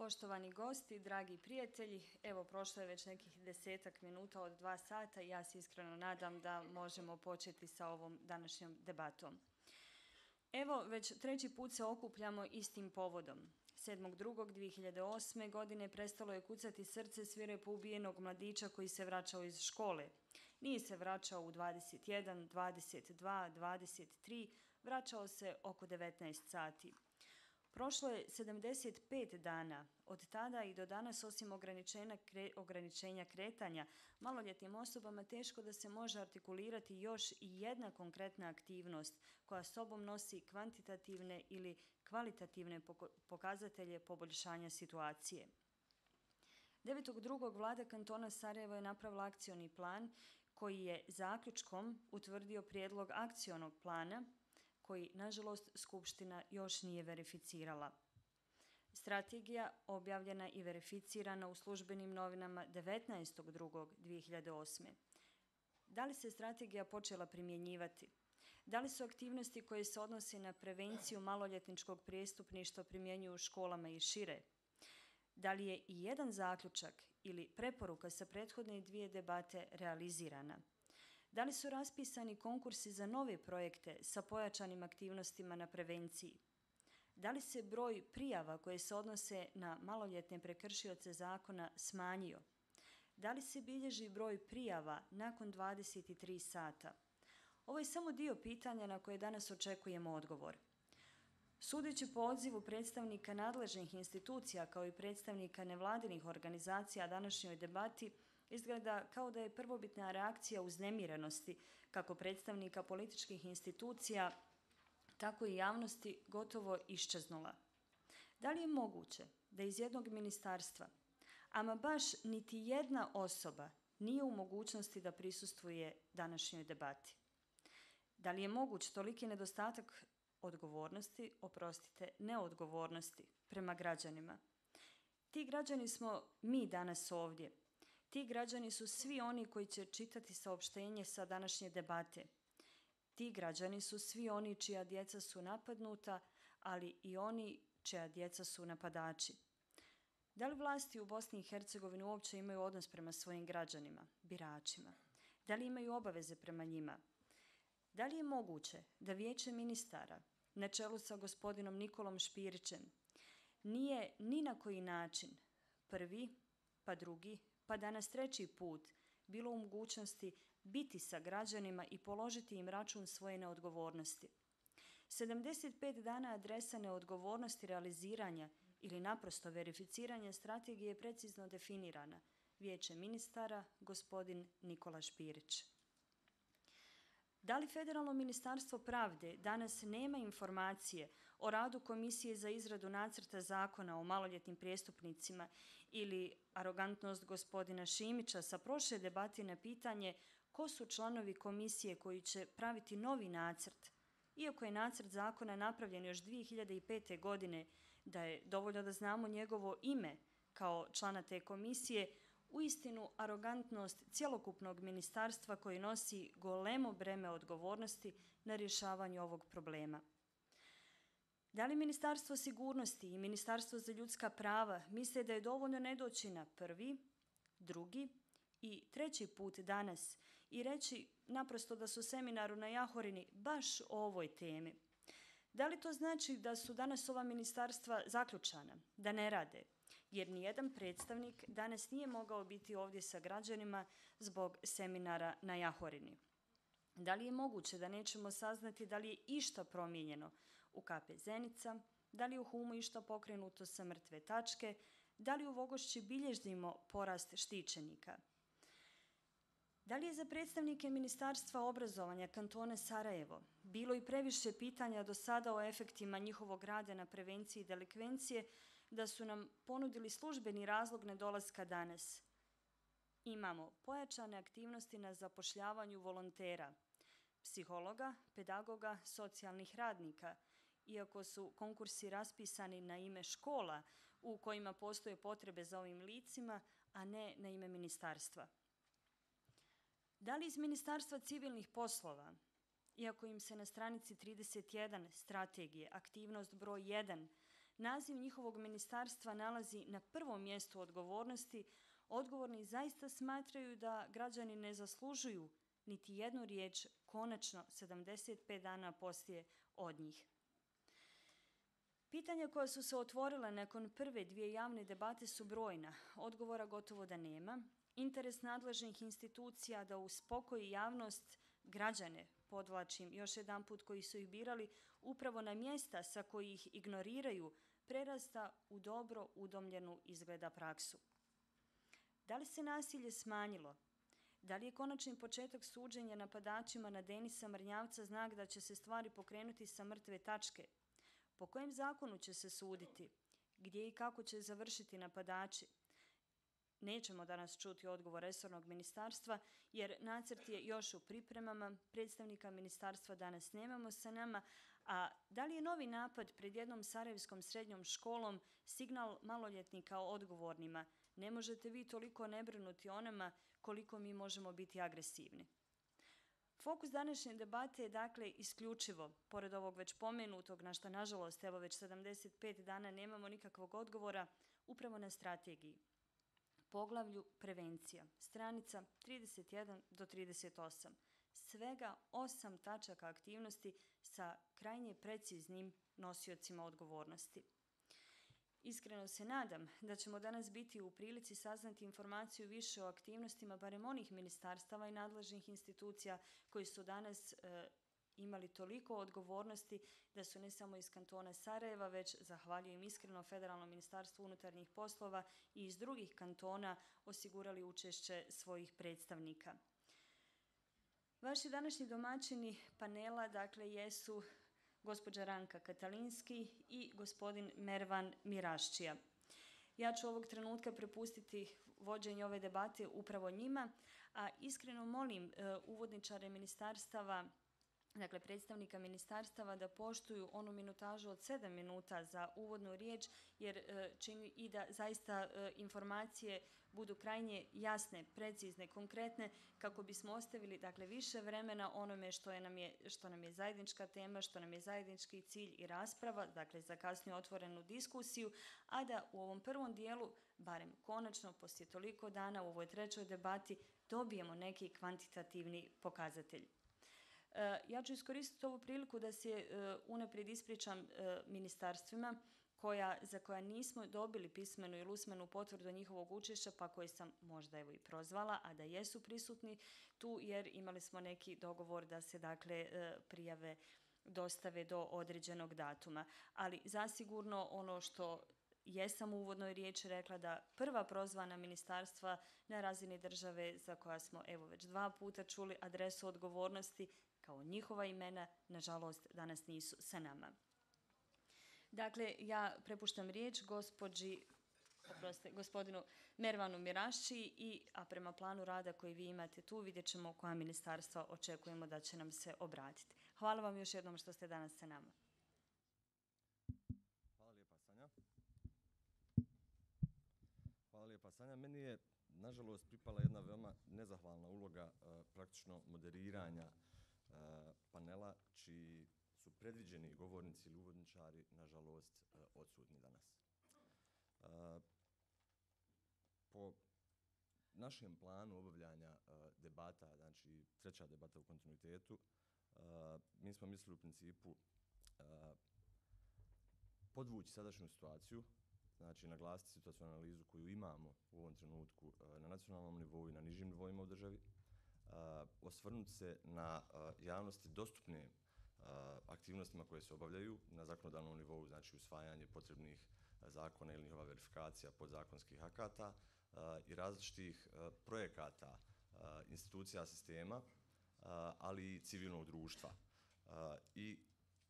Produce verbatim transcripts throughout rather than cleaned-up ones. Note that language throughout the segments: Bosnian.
Poštovani gosti, dragi prijatelji, evo prošlo je već nekih desetak minuta od dva sata i ja se iskreno nadam da možemo početi sa ovom današnjom debatom. Evo, već treći put se okupljamo istim povodom. sedmog drugog dvije hiljade osme. godine prestalo je kucati srce svirepo ubijenog mladića koji se vraćao iz škole. Nije se vraćao u dvadeset jedan, dvadeset dva, dvadeset tri, vraćao se oko devetnaest sati. Prošlo je sedamdeset pet dana. Od tada i do danas, osim ograničenja, kre, ograničenja kretanja, maloljetnim osobama teško da se može artikulirati još i jedna konkretna aktivnost koja sobom nosi kvantitativne ili kvalitativne pokazatelje poboljšanja situacije. devetog drugog vlada kantona Sarajevo je napravila akcioni plan koji je zaključkom utvrdio prijedlog akcionog plana koji, nažalost, Skupština još nije verificirala. Strategija objavljena i verificirana u službenim novinama devetnaestog drugog dvije hiljade osme. Da li se strategija počela primjenjivati? Da li su aktivnosti koje se odnose na prevenciju maloljetničkog prijestupništva primjenjuju u školama i šire? Da li je i jedan zaključak ili preporuka sa prethodne dvije debate realizirana? Da li su raspisani konkursi za nove projekte sa pojačanim aktivnostima na prevenciji? Da li se broj prijava koje se odnose na maloljetne prekršioce zakona smanjio? Da li se bilježi broj prijava nakon dvadeset tri sata? Ovo je samo dio pitanja na koje danas očekujemo odgovor. Sudeći po odzivu predstavnika nadležnih institucija kao i predstavnika nevladinih organizacija današnjoj debati, izgleda kao da je prvobitna reakcija uznemirenosti kako predstavnika političkih institucija, tako i javnosti gotovo iščeznula. Da li je moguće da iz jednog ministarstva, ama baš niti jedna osoba nije u mogućnosti da prisustvuje današnjoj debati? Da li je moguć toliki nedostatak odgovornosti, oprostite, neodgovornosti prema građanima? Ti građani smo mi danas ovdje. Ti građani su svi oni koji će čitati saopštenje sa današnje debate. Ti građani su svi oni čija djeca su napadnuta, ali i oni čija djeca su napadači. Da li vlasti u Bosni i Hercegovini uopće imaju odnos prema svojim građanima, biračima? Da li imaju obaveze prema njima? Da li je moguće da Vijeće ministara, na čelu sa gospodinom Nikolom Špirićem, nije ni na koji način prvi, pa drugi, pa danas treći put bilo u mogućnosti biti sa građanima i položiti im račun svoje neodgovornosti? sedamdeset pet dana adresa neodgovornosti realiziranja ili naprosto verificiranja strategije je precizno definirana. Vijeće ministara, gospodin Nikola Špirić. Da li Federalno ministarstvo pravde danas nema informacije o radu Komisije za izradu nacrta zakona o maloljetnim prijestupnicima ili arogantnost gospodina Šimića sa prošle debate na pitanje ko su članovi komisije koji će praviti novi nacrt? Iako je nacrt zakona napravljen još dvije hiljade pete. godine, da je dovoljno da znamo njegovo ime kao člana te komisije, uistinu arogantnost cjelokupnog ministarstva koji nosi golemo breme odgovornosti na rješavanju ovog problema. Da li Ministarstvo sigurnosti i Ministarstvo za ljudska prava misle da je dovoljno ne doći na prvi, drugi i treći put danas i reći naprosto da su seminaru na Jahorini baš o ovoj temi? Da li to znači da su danas ova ministarstva zaključana, da ne rade? Jer nijedan predstavnik danas nije mogao biti ovdje sa građanima zbog seminara na Jahorini. Da li je moguće da nećemo saznati da li je išta promijenjeno u K P Zenica, da li je u Humu išta pokrenuto sa mrtve tačke, da li u Vogošći bilježimo porast štićenika? Da li je za predstavnike Ministarstva obrazovanja kantona Sarajevo bilo i previše pitanja do sada o efektima njihovog rada na prevenciji delikvencije da su nam ponudili službeni razlog nedolaska danas? Imamo pojačane aktivnosti na zapošljavanju volontera, psihologa, pedagoga, socijalnih radnika, iako su konkursi raspisani na ime škola u kojima postoje potrebe za ovim licima, a ne na ime ministarstva. Da li iz Ministarstva civilnih poslova, iako im se na stranici trideset jedan strategije, aktivnost broj jedan, naziv njihovog ministarstva nalazi na prvom mjestu odgovornosti, odgovorni zaista smatraju da građani ne zaslužuju niti jednu riječ konačno sedamdeset pet dana poslije od njih. Pitanja koja su se otvorila nakon prve dvije javne debate su brojna, odgovora gotovo da nema. Interes nadležnih institucija da uspokoji javnost, građane, podvlačim još jedan put, koji su ih birali upravo na mjesta sa koji ih ignoriraju, prerasta u dobro udomljenu izgleda praksu. Da li se nasilje smanjilo? Da li je konačni početak suđenja napadačima na Denisa Mrnjavca znak da će se stvari pokrenuti sa mrtve tačke? Po kojem zakonu će se suditi? Gdje i kako će završiti napadači? Nećemo danas čuti odgovor resornog ministarstva, jer nacrt je još u pripremama, predstavnika ministarstva danas nemamo sa nama, a da li je novi napad pred jednom sarajevskom srednjom školom signal maloljetnika o odgovornima? Ne možete vi toliko ne brinuti o nama koliko mi možemo biti agresivni. Fokus današnje debate je dakle isključivo, pored ovog već pomenutog, na što nažalost evo već sedamdeset pet dana nemamo nikakvog odgovora, upravo na strategiji. Poglavlju prevencija, stranica trideset jedan do trideset osam. Svega osam tačaka aktivnosti sa krajnje preciznim nosiocima odgovornosti. Iskreno se nadam da ćemo danas biti u prilici saznati informaciju više o aktivnostima barem onih ministarstava i nadležnih institucija koji su danas e, imali toliko odgovornosti da su ne samo iz kantona Sarajeva, već, zahvaljujem iskreno, Federalnom ministarstvu unutarnjih poslova i iz drugih kantona osigurali učešće svojih predstavnika. Vaši današnji domaćini panela, dakle, jesu gospođa Ranka Katalinski i gospodin Mervan Miraščija. Ja ću ovog trenutka prepustiti vođenje ove debate upravo njima, a iskreno molim e, uvodničare ministarstava, dakle predstavnika ministarstava, da poštuju onu minutažu od sedam minuta za uvodnu riječ, jer e, čini i da zaista e, informacije budu krajnje jasne, precizne, konkretne, kako bismo ostavili dakle više vremena onome što, je nam je, što nam je zajednička tema, što nam je zajednički cilj i rasprava, dakle za kasnije otvorenu diskusiju, a da u ovom prvom dijelu, barem konačno, poslije toliko dana u ovoj trećoj debati, dobijemo neki kvantitativni pokazatelj. Ja ću iskoristiti ovu priliku da se unaprijed ispričam ministarstvima koja, za koja nismo dobili pismenu ili usmenu potvrdu njihovog učešća, pa koje sam možda evo i prozvala, a da jesu prisutni tu, jer imali smo neki dogovor da se dakle prijave dostave do određenog datuma. Ali zasigurno ono što jesam u uvodnoj riječi rekla, da prva prozvana ministarstva na razini države, za koja smo evo već dva puta čuli adresu odgovornosti, kao njihova imena, nažalost, danas nisu sa nama. Dakle, ja prepuštam riječ gospođi, oprostite, gospodinu Mervanu Miraščiji, i, a prema planu rada koji vi imate tu, vidjet ćemo koja ministarstva očekujemo da će nam se obratiti. Hvala vam još jednom što ste danas sa nama. Hvala lijepa, Sanja. Hvala lijepa, Sanja. Meni je, nažalost, pripala jedna veoma nezahvalna uloga uh, praktično moderiranja uh, panela, čiji su predviđeni govornici ili uvodničari, nažalost, uh, odsutni danas. Uh, po našem planu obavljanja uh, debata, znači treća debata u kontinuitetu, uh, mi smo mislili u principu uh, podvući sadašnju situaciju, znači naglasiti situacijnu analizu koju imamo u ovom trenutku uh, na nacionalnom nivou i na nižim nivoima u državi, uh, osvrnuti se na uh, javnosti dostupne uh, aktivnostima koje se obavljaju na zakonodavnom nivou, znači usvajanje potrebnih uh, zakona ili njihova verifikacija podzakonskih akata uh, i različitih uh, projekata uh, institucija sistema, uh, ali i civilnog društva. Uh, I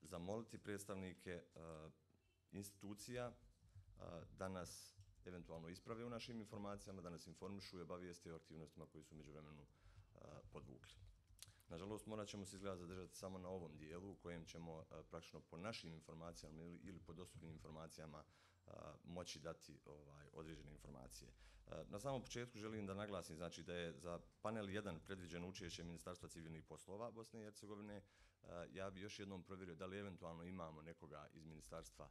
zamoliti predstavnike uh, institucija da nas eventualno isprave u našim informacijama, da nas informišu i obavijeste o aktivnostima koji su međuvremenu podvukli. Nažalost, morat ćemo se izgleda zadržati samo na ovom dijelu u kojem ćemo praktično po našim informacijama ili, ili po dostupnim informacijama moći dati ovaj, određene informacije. Na samom početku želim da naglasim, znači, da je za panel jedan predviđeno učešće Ministarstva civilnih poslova Bosne i Hercegovine. Ja bih još jednom provjerio da li eventualno imamo nekoga iz Ministarstva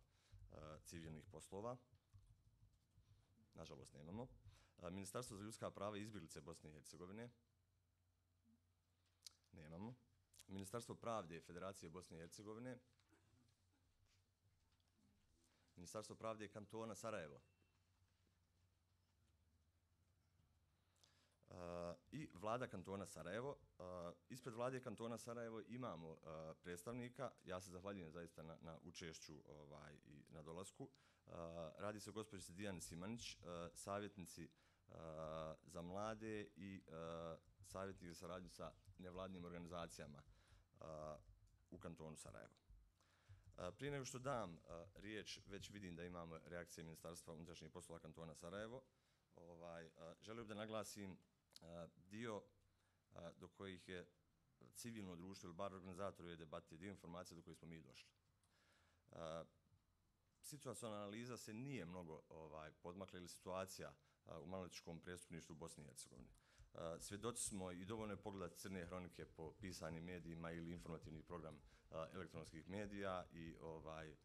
civilnih poslova. Nažalost, nemamo. Ministarstvo za ljudska prava i izbjeglice Bosne i Hercegovine. Nemamo. Ministarstvo pravde Federacije Bosne i Hercegovine. Ministarstvo pravde kantona Sarajevo. Uh, I vlada kantona Sarajevo. Uh, ispred vlade kantona Sarajevo imamo uh, predstavnika. Ja se zahvaljujem zaista na, na učešću ovaj, i na dolasku. Uh, radi se o gospođici Dijani Simanić, uh, savjetnici uh, za mlade i uh, savjetnik za saradnju sa nevladnim organizacijama uh, u kantonu Sarajevo. Uh, prije nego što dam uh, riječ, već vidim da imamo reakcije Ministarstva unutrašnjih poslova kantona Sarajevo. Ovaj, uh, želio bih da naglasim uh, dio uh, do kojih je civilno društvo ili bar organizatori debate, dio informacija do kojih smo mi došli. Uh, situacionalna analiza se nije mnogo ovaj, podmakla ili situacija uh, u maloljetničkom prestupništvu u Bosni i Hercegovini. Uh, svjedoci smo i dovoljno je pogledati crne hronike po pisanim medijima ili informativni program uh, elektronskih medija i ovaj, uh,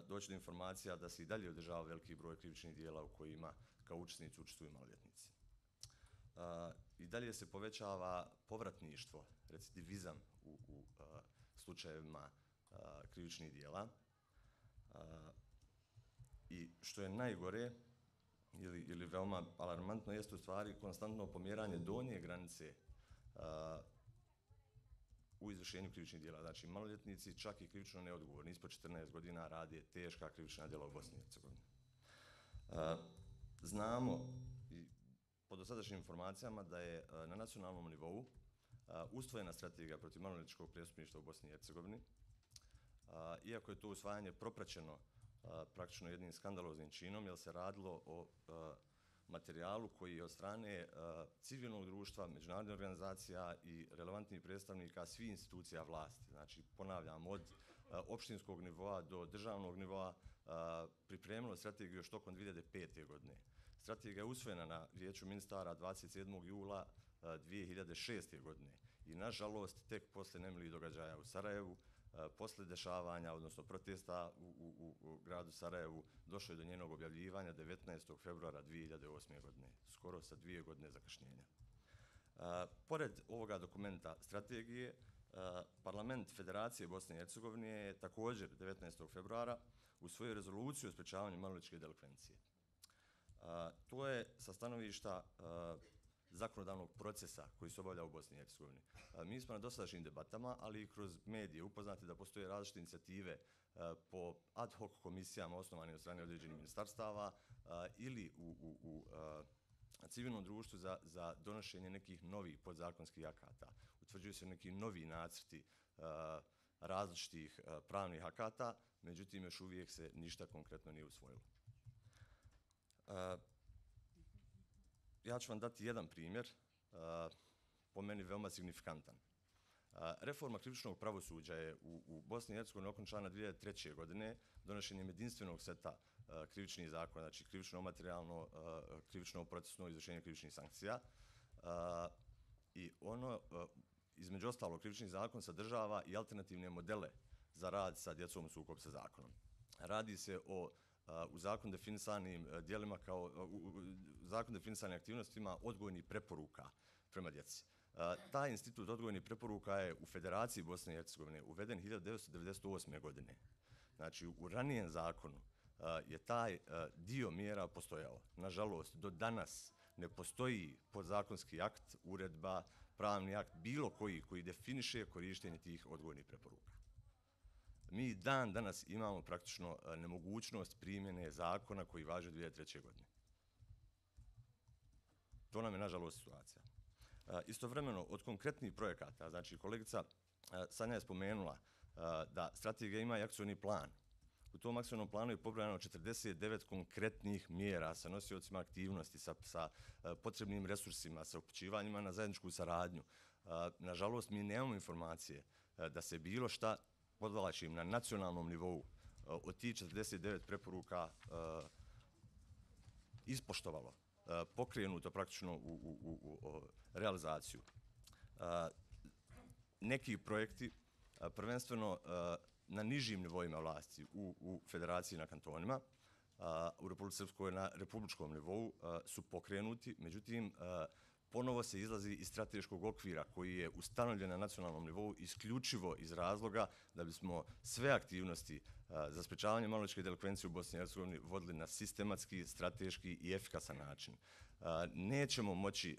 doći do informacija da se i dalje održava veliki broj krivičnih dijela u kojima kao učesnici učestvuju maloljetnici. Uh, I dalje se povećava povratništvo, recidivizam u, u uh, slučajevima uh, krivičnih dijela. Uh, I što je najgore, ili, ili veoma alarmantno, jeste u stvari konstantno pomjeranje donje granice uh, u izvršenju krivičnih dijela. Znači, maloljetnici, čak i krivično neodgovorni, ispod četrnaest godina rade teška krivična djela u Bosni i Hercegovini. Uh, znamo i po dosadašnjim informacijama da je uh, na nacionalnom nivou uh, usvojena strategija protiv maloljetničkog prestupništva u Bosni i Hercegovini. Uh, iako je to usvajanje propraćeno Uh, praktično jednim skandaloznim činom, jer se radilo o uh, materijalu koji je od strane uh, civilnog društva, međunarodnih organizacija i relevantnih predstavnika svih institucija vlasti. Znači, ponavljam, od uh, opštinskog nivoa do državnog nivoa uh, pripremilo strategiju još tokom dvije hiljade pete. godine. Strategija je usvojena na Vijeću ministara dvadeset sedmog jula uh, dvije hiljade šeste. godine i, nažalost, tek posle nemilih događaja u Sarajevu, posle dešavanja, odnosno protesta u, u, u gradu Sarajevu, došlo je do njenog objavljivanja devetnaestog februara dvije hiljade osme. godine, skoro sa dvije godine zakašnjenja. Uh, pored ovoga dokumenta strategije, uh, Parlament Federacije Bosne i Hercegovine je također devetnaestog februara usvojio rezoluciju o sprečavanju maloljetničke delikvencije. Uh, to je sa stanovišta uh, zakonodavnog procesa koji se obavlja u Bosni i Hercegovini. Mi smo na dosadašnjim debatama, ali i kroz medije upoznati da postoje različite inicijative po ad hoc komisijama osnovanih od strane određenih ministarstava ili u, u, u civilnom društvu za, za donošenje nekih novih podzakonskih akata. Utvrđuju se neki novi nacrti različitih pravnih akata, međutim još uvijek se ništa konkretno nije usvojilo. Ja ću vam dati jedan primjer, uh, po meni veoma signifikantan. Uh, reforma krivičnog pravosuđa je u, u Bosni i Hercegovini okončana dvije hiljade treće. godine donošenjem jedinstvenog seta uh, krivičnih zakona, znači krivično materijalno, uh, krivično procesno izvršenje krivičnih sankcija. Uh, I ono, uh, između ostalog, krivični zakon sadržava i alternativne modele za rad sa djecom u sukobu sa zakonom. Radi se o u zakon definisanim dijelima kao u zakon definisanim aktivnostima odgojnih preporuka prema djeci. Taj institut odgojnih preporuka je u Federaciji Bosne i Hercegovine uveden hiljadu devetsto devedeset osme. godine. Znači, u ranijem zakonu je taj dio mjera postojao. Nažalost, do danas ne postoji podzakonski akt, uredba, pravni akt, bilo koji koji definiše korištenje tih odgojnih preporuka. Mi dan danas imamo praktično nemogućnost primjene zakona koji važi od dvije hiljade treće. godine. To nam je, nažalost, situacija. Istovremeno, od konkretnih projekata, znači kolegica Sanja je spomenula da strategija ima i akcioni plan. U tom akcionom planu je pobrojano četrdeset devet konkretnih mjera sa nosiocima aktivnosti, sa, sa potrebnim resursima, sa upućivanjima na zajedničku saradnju. Nažalost, mi nemamo informacije da se bilo šta, podvlačim, na nacionalnom nivou od tih četrdeset devet preporuka uh, ispoštovalo, uh, pokrenuto praktično u, u, u, u realizaciju. Uh, neki projekti, uh, prvenstveno uh, na nižim nivoima vlasti u, u federaciji na kantonima, u Republici Srpskoj na republičkom nivou su pokrenuti, međutim ponovo se izlazi iz strateškog okvira koji je ustanovljen na nacionalnom nivou isključivo iz razloga da bismo sve aktivnosti za sprečavanje maloljetničke delikvencije u Bosni i Hercegovini vodili na sistematski, strateški i efikasan način. Nećemo moći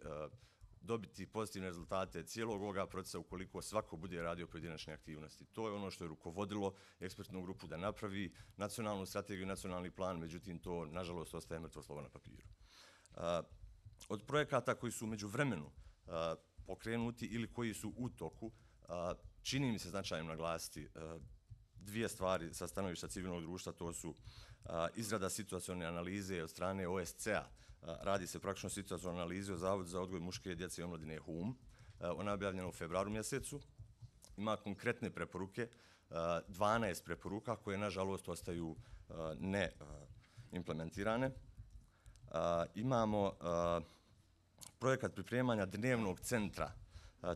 dobiti pozitivne rezultate cijelog ovoga procesa ukoliko svako bude radio pojedinačne aktivnosti. To je ono što je rukovodilo ekspertnu grupu da napravi nacionalnu strategiju i nacionalni plan, međutim to nažalost ostaje mrtvo slovo na papiru. Od projekata koji su među vremenu pokrenuti ili koji su u toku, čini mi se značajno naglasiti dvije stvari sa stanovišta civilnog društva, to su izrada situacione analize od strane O S C A. Radi se praktično situacione analize o Zavodu za odgoj muške djece i omladine H U M. Ona je objavljena u februaru mjesecu. Ima konkretne preporuke, dvanaest preporuka koje nažalost ostaju ne implementirane. Imamo projekat pripremanja dnevnog centra.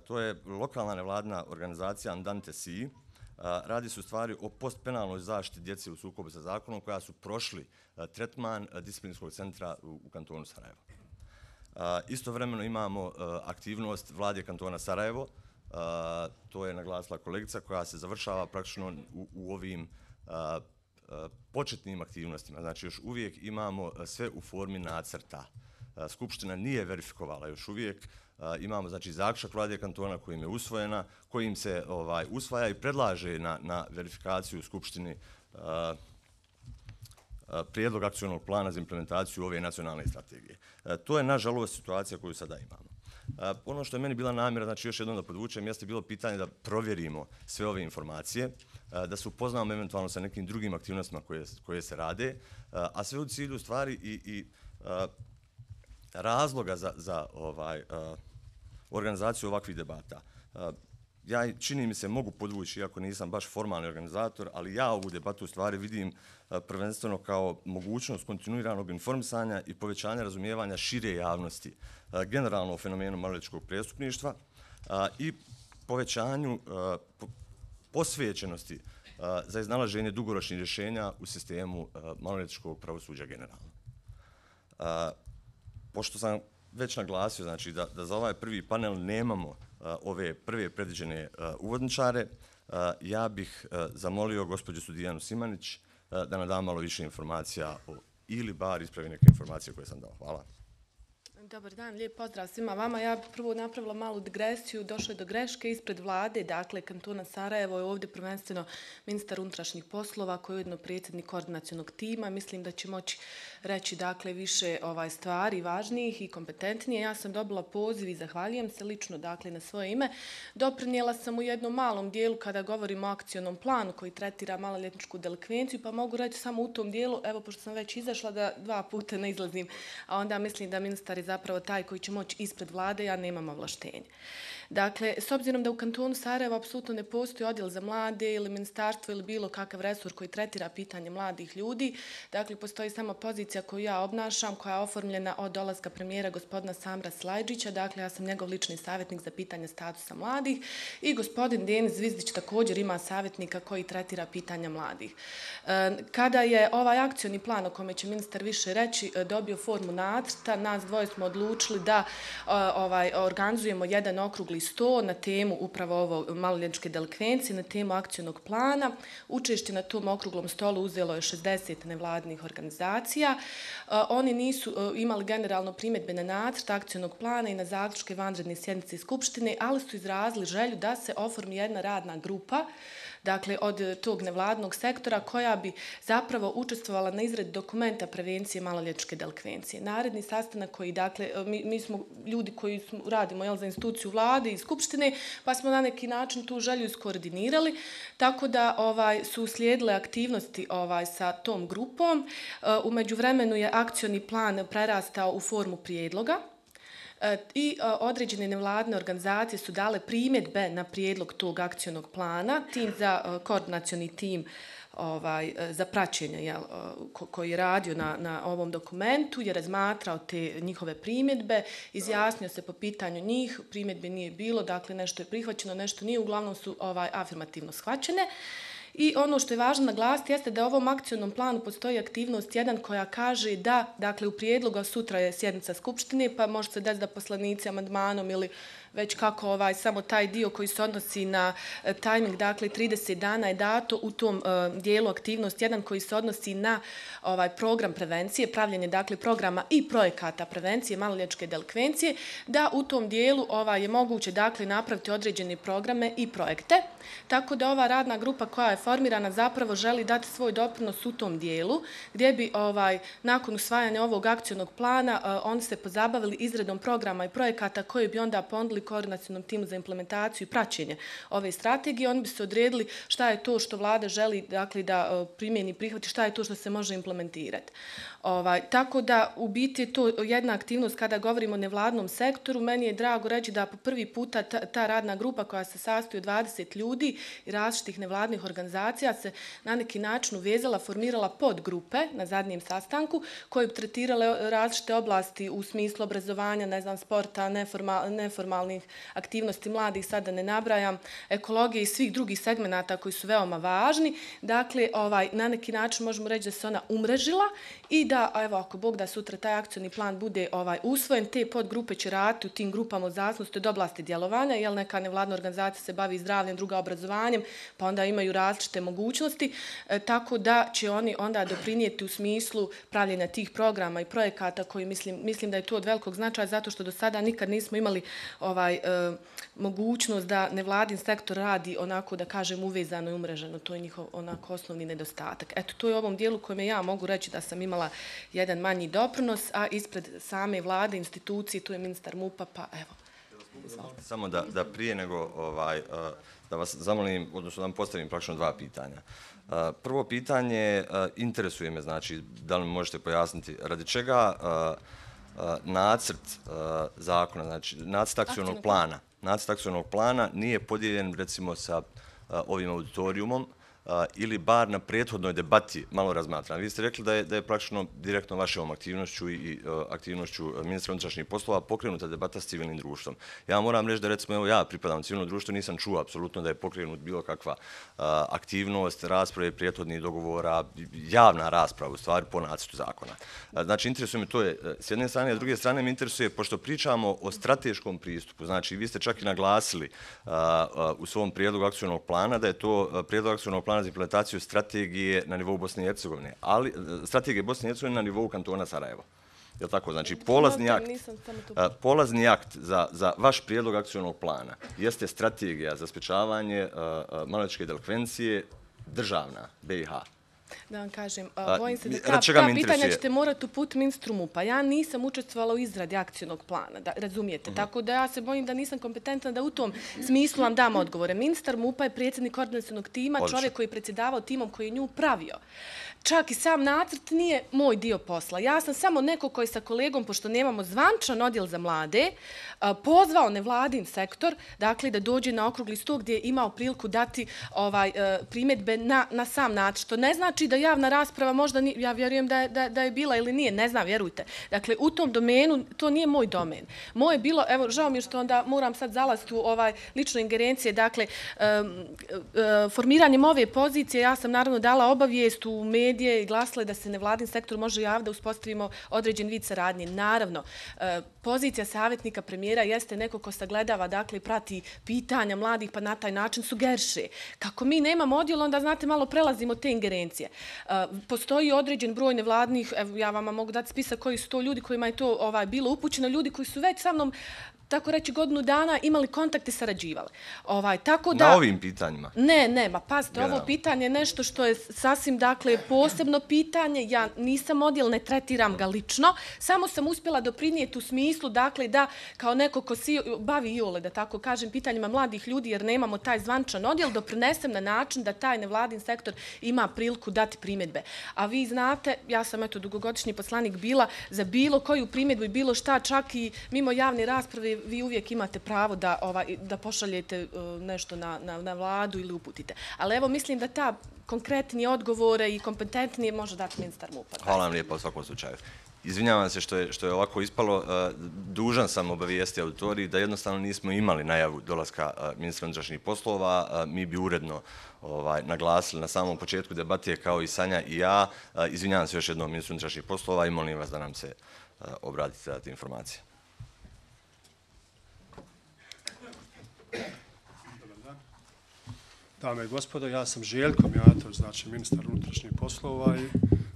To je lokalna nevladina organizacija Andante Si. Radi se u stvari o postpenalnoj zaštiti djece u sukobu sa zakonom koja su prošli tretman disciplinskog centra u kantonu Sarajevo. Istovremeno imamo aktivnost vlade kantona Sarajevo, to je naglasila kolegica, koja se završava praktično u, u ovim početnim aktivnostima. Znači još uvijek imamo sve u formi nacrta. Skupština nije verifikovala još uvijek. Imamo znači zaključak vlade kantona kojim je usvojena, kojim se ovaj usvaja i predlaže na, na verifikaciju u Skupštini uh, uh, prijedlog akcionog plana za implementaciju ove nacionalne strategije. Uh, to je nažalost situacija koju sada imamo. Uh, ono što je meni bila namjera, znači još jednom da podvučem, jeste bilo pitanje da provjerimo sve ove informacije, uh, da se upoznamo eventualno sa nekim drugim aktivnostima koje, koje se rade, uh, a sve u cilju stvari i, i uh, razloga za, za ovaj, uh, organizaciju ovakvih debata. Uh, ja čini mi se mogu podvući, iako nisam baš formalni organizator, ali ja ovu debatu u stvari vidim uh, prvenstveno kao mogućnost kontinuiranog informisanja i povećanja razumijevanja šire javnosti, uh, generalno o fenomenu maloljetničkog prestupništva uh, i povećanju uh, po, posvećenosti uh, za iznalaženje dugoročnih rješenja u sistemu uh, maloljetničkog pravosuđa generalno. Uh, Pošto sam već naglasio znači, da, da za ovaj prvi panel nemamo uh, ove prve predviđene uh, uvodničare, uh, ja bih uh, zamolio gospođu Sudijanu Simanić uh, da nam da malo više informacija o, ili bar ispravi neke informacije koje sam dao. Hvala. Dobar dan, lijep pozdrav svima vama. Ja bih prvo napravila malu digresiju, došlo je do greške ispred vlade, dakle kantona Sarajevo je ovdje prvenstveno ministar unutrašnjih poslova koji je ujedno predsjednik koordinacionog tima. Mislim da će moći reći dakle više ovaj stvari važnijih i kompetentnije. Ja sam dobila poziv i zahvaljujem se lično dakle na svoje ime. Doprinijela sam u jednom malom dijelu kada govorimo o akcionom planu koji tretira maloljetničku delikvenciju, pa mogu reći samo u tom dijelu, evo pošto sam već izašla da dva puta ne izlazim, a onda mislim da ministar je zapravo taj koji će moći ispred vlade, ja nemam ovlaštenje. Dakle, s obzirom da u kantonu Sarajevo apsolutno ne postoji odjel za mlade ili ministarstvo ili bilo kakav resor koji tretira pitanje mladih ljudi, dakle, postoji samo pozicija koju ja obnašam, koja je oformljena od dolaska premijera gospodina Samra Slajdžića, dakle, ja sam njegov lični savjetnik za pitanje statusa mladih i gospodin Denis Zvizdić također ima savjetnika koji tretira pitanja mladih. Kada je ovaj akcioni plan o kome će ministar više reći dobio formu nacrta, nas dvoje smo odlučili da ovaj, organizujemo jedan okrugli sto na temu upravo ovo maloljetničke delikvencije, na temu akcionog plana. Učešće na tom okruglom stolu uzelo je šezdeset nevladinih organizacija. Oni nisu imali generalno primjedbe na nacrt akcionog plana i na zaključke vanredne sjednice Skupštine, ali su izrazili želju da se oformi jedna radna grupa, dakle od tog nevladnog sektora koja bi zapravo učestvovala na izradi dokumenta prevencije maloljetničke delikvencije. Naredni sastanak koji, dakle, mi, mi smo ljudi koji smo, radimo jel, za instituciju vlade i Skupštine, pa smo na neki način tu želju iskoordinirali, tako da ovaj, su uslijedile aktivnosti ovaj, sa tom grupom. U međuvremenu je akcioni plan prerastao u formu prijedloga, i određene nevladne organizacije su dale primjedbe na prijedlog tog akcionog plana. Tim za koordinacioni tim ovaj, za praćenje jel, ko, koji je radio na, na ovom dokumentu je razmatrao te njihove primjedbe, izjasnio se po pitanju njih, primjedbe nije bilo, dakle nešto je prihvaćeno, nešto nije, uglavnom su ovaj, afirmativno shvaćene. I ono što je važno naglasiti jeste da u ovom akcionom planu postoji aktivnost jedan koja kaže da, dakle u prijedlogu sutra je sjednica Skupštine, pa može se desiti da poslanici amandmanom ili već kako ovaj, samo taj dio koji se odnosi na e, tajming, dakle trideset dana je dato u tom e, dijelu aktivnost jedan koji se odnosi na ovaj program prevencije, pravljenje dakle programa i projekata prevencije maloljetničke delikvencije, da u tom dijelu ovaj, je moguće dakle napraviti određene programe i projekte. Tako da ova radna grupa koja je formirana zapravo želi dati svoj doprinos u tom dijelu, gdje bi ovaj, nakon usvajanja ovog akcionog plana e, oni se pozabavili izradom programa i projekata koji bi onda ponudili koordinacionom timu za implementaciju i praćenje ove strategije. Oni bi se odredili šta je to što vlada želi dakle, da primjeni i prihvati, šta je to što se može implementirati. Ovaj, tako da u biti je to jedna aktivnost kada govorimo o nevladnom sektoru. Meni je drago reći da po prvi puta ta, ta radna grupa koja se sastoji od dvadeset ljudi i različitih nevladnih organizacija se na neki način uvezala, formirala podgrupe na zadnjem sastanku koje bi tretirale različite oblasti u smislu obrazovanja, ne znam, sporta, neformal, neformalnih aktivnosti mladih, sada ne nabrajam, ekologije i svih drugih segmenata koji su veoma važni. Dakle, ovaj, na neki način možemo reći da se ona umrežila i da, evo, ako Bog da sutra taj akcioni plan bude ovaj usvojen, te podgrupe će raditi u tim grupama od zavisnosti od oblasti djelovanja, jer neka nevladna organizacija se bavi zdravljem, druga obrazovanjem, pa onda imaju različite mogućnosti, e, tako da će oni onda doprinijeti u smislu pravljenja tih programa i projekata koji mislim, mislim da je to od velikog značaja, zato što do sada nikad nismo imali ovaj, e, mogućnost da nevladin sektor radi onako, da kažem, uvezano i umreženo. To je njihov onako osnovni nedostatak. Eto, to je u ovom dijelu kojem ja mogu reći da sam imala jedan manji doprinos, a ispred same vlade, institucije, tu je ministar MUP-a, pa evo. Izvolite. Samo da, da prije nego ovaj, da vas zamolim, odnosno da vam postavim praktično dva pitanja. Prvo pitanje, interesuje me, znači, da li mi možete pojasniti, radi čega nacrt zakona, znači nacrt akcionog plana, nacrt akcionog plana nije podijeljen recimo sa ovim auditorijumom, Uh, ili bar na prethodnoj debati malo razmatran. Vi ste rekli da je, da je praktično direktno vašom aktivnošću i uh, aktivnošću ministra unutrašnjih poslova pokrenuta debata s civilnim društvom. Ja moram reći da recimo evo ja pripadam civilnom društvu, nisam čuo apsolutno da je pokrenut bilo kakva uh, aktivnost, rasprave, prethodnih dogovora, javna rasprava u stvari po nacrtu zakona. Uh, znači interesuje me to je uh, s jedne strane, a s druge strane me interesuje, pošto pričamo o strateškom pristupu, znači vi ste čak i naglasili uh, uh, u svom prijedlogu akcionog plana da je to uh, prijedlog akcionog plana za implementaciju strategije na nivou Bosne i Hercegovine, ali strategije Bosne i Hercegovine na nivou kantona Sarajevo. Je li tako? Znači, polazni akt, polazni akt za, za vaš prijedlog akcionog plana jeste strategija za sprječavanje maloljetničke delikvencije državna, B i H. Da vam kažem, bojim se da ta, ta pitanja ćete morati uputiti ministru MUP-a. Ja nisam učestvovala u izradi akcionog plana, da, razumijete. Uh-huh. Tako da ja se bojim da nisam kompetentna da u tom smislu vam dam odgovore. Ministar MUP-a je predsjednik koordinacionog tima, Odlično. Čovjek koji je predsjedavao timom koji je nju pravio. Čak i sam nacrt nije moj dio posla. Ja sam samo neko koji sa kolegom, pošto nemamo zvančan odjel za mlade, pozvao nevladin sektor, dakle da dođe na okrugli sto gdje je imao priliku dati ovaj, primjedbe na, na sam nacrt. Što ne znači da javna rasprava možda, ni, ja vjerujem da je, da, da je bila ili nije, ne znam, vjerujte. Dakle, u tom domenu, to nije moj domen. Moje je bilo, evo, žao mi je što onda moram sad zalaziti u ovaj lične ingerencije, dakle, um, um, formiranjem ove pozicije, ja sam naravno dala obavijest u medije i glasila da se nevladin sektor može javiti da uspostavimo određen vid saradnje. Naravno, pozicija savjetnika premijera jeste neko ko sagledava, dakle, prati pitanja mladih, pa na taj način sugeriše. Kako mi nemamo odjel, onda, znate, malo prelazimo te ingerencije. Postoji određen broj nevladnih, evo, ja vama mogu dati spisak koji su to ljudi kojima je to ovaj, bilo upućeno, ljudi koji su već sa mnom tako reći godinu dana imali kontakte, sarađivali. Ovaj, tako da, na ovim pitanjima? Ne, ne, ma pazite, ovo pitanje je nešto što je sasvim, dakle, posebno pitanje. Ja nisam odjel, ne tretiram ga lično, samo sam uspjela doprinijeti u smislu, dakle, da kao neko ko si bavi iole, da tako kažem, pitanjima mladih ljudi, jer nemamo taj zvančan odjel, doprinesem na način da taj nevladin sektor ima priliku dati primjedbe. A vi znate, ja sam eto dugogodišnji poslanik bila za bilo koju primjedbu i bilo šta, čak i mimo javne rasprave, vi uvijek imate pravo da, ovaj, da pošaljete uh, nešto na, na, na vladu ili uputite. Ali evo, mislim da ta konkretnije odgovore i kompetentnije može dati ministar MUP-a. Hvala vam lijepo u svakom slučaju. Izvinjavam se što je, što je ovako ispalo. Dužan sam obavijesti auditoriji da jednostavno nismo imali najavu dolaska ministra unutrašnjih poslova. Mi bi uredno ovaj, naglasili na samom početku debatije kao i Sanja i ja. Izvinjavam se još jednom ministru unutrašnjih poslova i molim vas da nam se obratite dati informacije. Dame i gospodo, ja sam Željko Mijatović, znači ministar unutrašnjih poslova i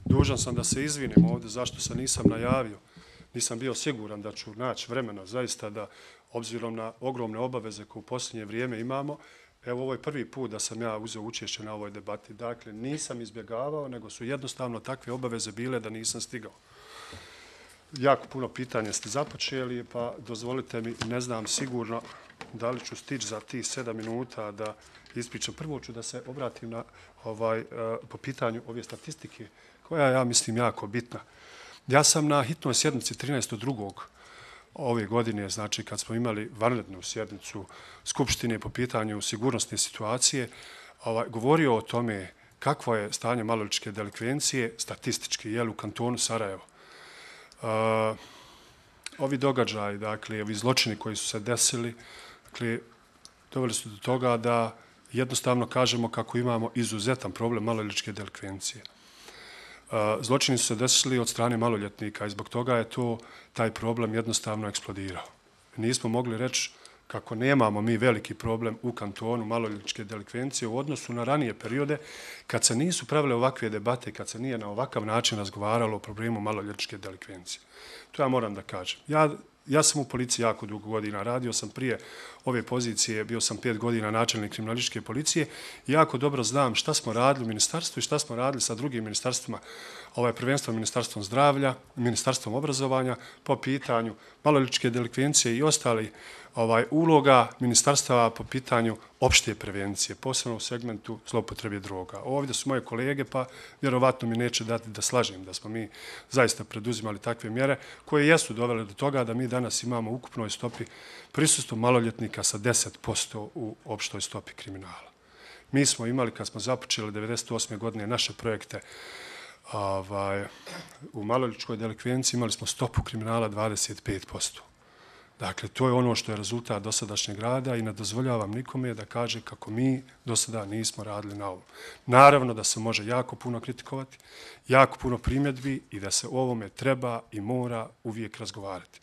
dužan sam da se izvinim ovdje zašto se nisam najavio. Nisam bio siguran da ću naći vremena zaista da, obzirom na ogromne obaveze koje u posljednje vrijeme imamo, evo ovo je prvi put da sam ja uzeo učešće na ovoj debati. Dakle, nisam izbjegavao, nego su jednostavno takve obaveze bile da nisam stigao. Jako puno pitanja ste započeli, pa dozvolite mi, ne znam sigurno da li ću stići za tih sedam minuta da ispričam. Prvo ću da se obratim na ovaj, po pitanju ove statistike, koja je, ja mislim, jako bitna. Ja sam na hitnoj sjednici trinaestog drugog ove godine, znači kad smo imali vanrednu sjednicu Skupštine po pitanju sigurnosne situacije, ovaj, govorio o tome kakvo je stanje maloljetničke delikvencije statistički, jel, u kantonu Sarajevo. Uh, ovi događaji, dakle, ovi zločini koji su se desili, dakle, doveli su do toga da jednostavno kažemo kako imamo izuzetan problem maloljetničke delikvencije. Zločini su se desili od strane maloljetnika i zbog toga je to taj problem jednostavno eksplodirao. Nismo mogli reći kako nemamo mi veliki problem u kantonu maloljetničke delikvencije u odnosu na ranije periode kad se nisu pravile ovakve debate, kad se nije na ovakav način razgovaralo o problemu maloljetničke delikvencije. To ja moram da kažem. Ja Ja sam u policiji jako dugo godina, radio sam prije ove pozicije, bio sam pet godina načelnik kriminalističke policije i jako dobro znam šta smo radili u ministarstvu i šta smo radili sa drugim ministarstvima, ovaj prvenstveno ministarstvom zdravlja, ministarstvom obrazovanja, po pitanju maloljetničke delikvencije i ostali ovaj, uloga ministarstava po pitanju opšte prevencije, posebno u segmentu zloupotrebe droga. Ovdje su moje kolege, pa vjerovatno mi neće dati da slažem da smo mi zaista preduzimali takve mjere koje jesu dovele do toga da mi danas imamo u ukupnoj stopi prisustvo maloljetnika sa deset posto u opštoj stopi kriminala. Mi smo imali, kad smo započeli devedeset osme godine naše projekte ovaj, u maloljetničkoj delikvenciji, imali smo stopu kriminala dvadeset pet posto. Dakle, to je ono što je rezultat dosadašnjeg rada i ne dozvoljavam nikome da kaže kako mi do sada nismo radili na ovom. Naravno da se može jako puno kritikovati, jako puno primjedbi i da se o ovome treba i mora uvijek razgovarati.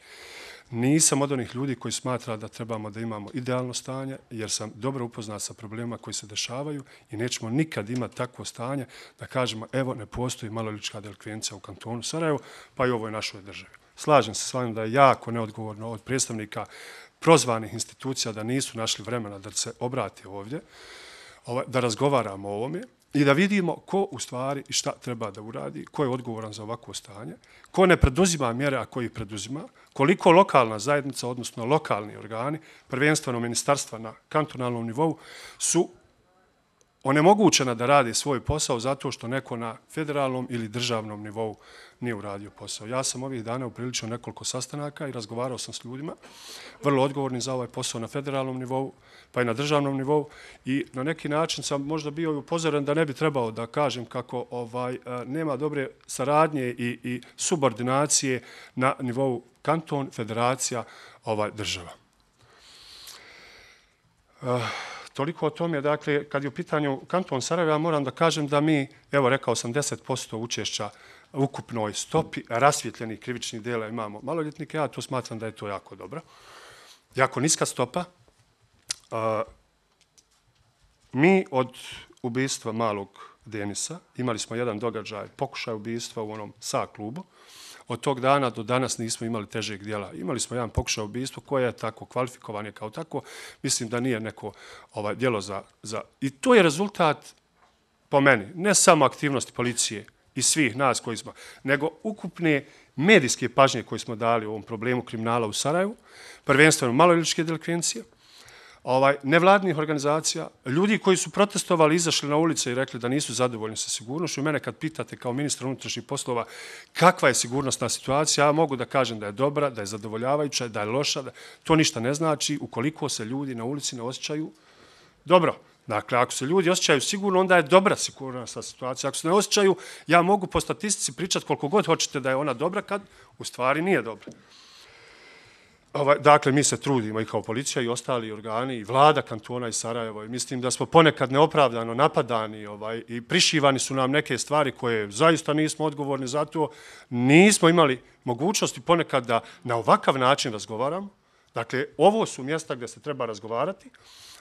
Nisam od onih ljudi koji smatra da trebamo da imamo idealno stanje, jer sam dobro upoznat sa problemima koji se dešavaju i nećemo nikad imati takvo stanje da kažemo evo ne postoji maloljetnička delikvencija u kantonu Sarajevo, pa i u ovoj našoj državi. Slažem se s vama da je jako neodgovorno od predstavnika prozvanih institucija da nisu našli vremena da se obrate ovdje, da razgovaramo o ovome i da vidimo ko u stvari i šta treba da uradi, ko je odgovoran za ovakvo stanje, ko ne preduzima mjere, a ko ih preduzima, koliko lokalna zajednica, odnosno lokalni organi, prvenstveno ministarstva na kantonalnom nivou, su onemogućena da radi svoj posao zato što neko na federalnom ili državnom nivou nije uradio posao. Ja sam ovih dana upriličio nekoliko sastanaka i razgovarao sam s ljudima, vrlo odgovorni za ovaj posao na federalnom nivou, pa i na državnom nivou i na neki način sam možda bio upozoren da ne bi trebao da kažem kako ovaj nema dobre saradnje i, i subordinacije na nivou kanton, federacija, ovaj država. Uh, Toliko o tome, dakle, kad je u pitanju kanton Sarajevo, ja moram da kažem da mi, evo rekao sam, deset posto učešća u ukupnoj stopi rasvjetljenih krivičnih dela imamo maloljetnike, ja to smatram da je to jako dobro. Jako niska stopa. Uh, mi od ubistva malog Denisa imali smo jedan događaj, pokušaj ubistva u onom S A klubu. Od tog dana do danas nismo imali težeg dijela. Imali smo jedan pokušaj ubistva koje je tako kvalifikovan kao tako. Mislim da nije neko ovaj, djelo za, za... I to je rezultat, po meni, ne samo aktivnosti policije i svih nas koji smo, nego ukupne medijske pažnje koje smo dali u ovom problemu kriminala u Sarajevu, prvenstveno maloljetničke delikvencije, ovaj, nevladnih organizacija, ljudi koji su protestovali, izašli na ulice i rekli da nisu zadovoljni sa sigurnošću. Mene kad pitate kao ministra unutrašnjih poslova kakva je sigurnosna situacija, ja mogu da kažem da je dobra, da je zadovoljavajuća, da je loša, da to ništa ne znači ukoliko se ljudi na ulici ne osjećaju dobro. Dakle, ako se ljudi osjećaju sigurno, onda je dobra sigurnosna situacija. Ako se ne osjećaju, ja mogu po statistici pričati koliko god hoćete da je ona dobra, kad u stvari nije dobra. Ovaj, dakle, mi se trudimo i kao policija i ostali organi, i vlada kantona i Sarajevo. I mislim da smo ponekad neopravdano napadani ovaj, i prišivani su nam neke stvari koje zaista nismo odgovorni za to. Nismo imali mogućnosti ponekad da na ovakav način razgovaramo. Dakle, ovo su mjesta gdje se treba razgovarati.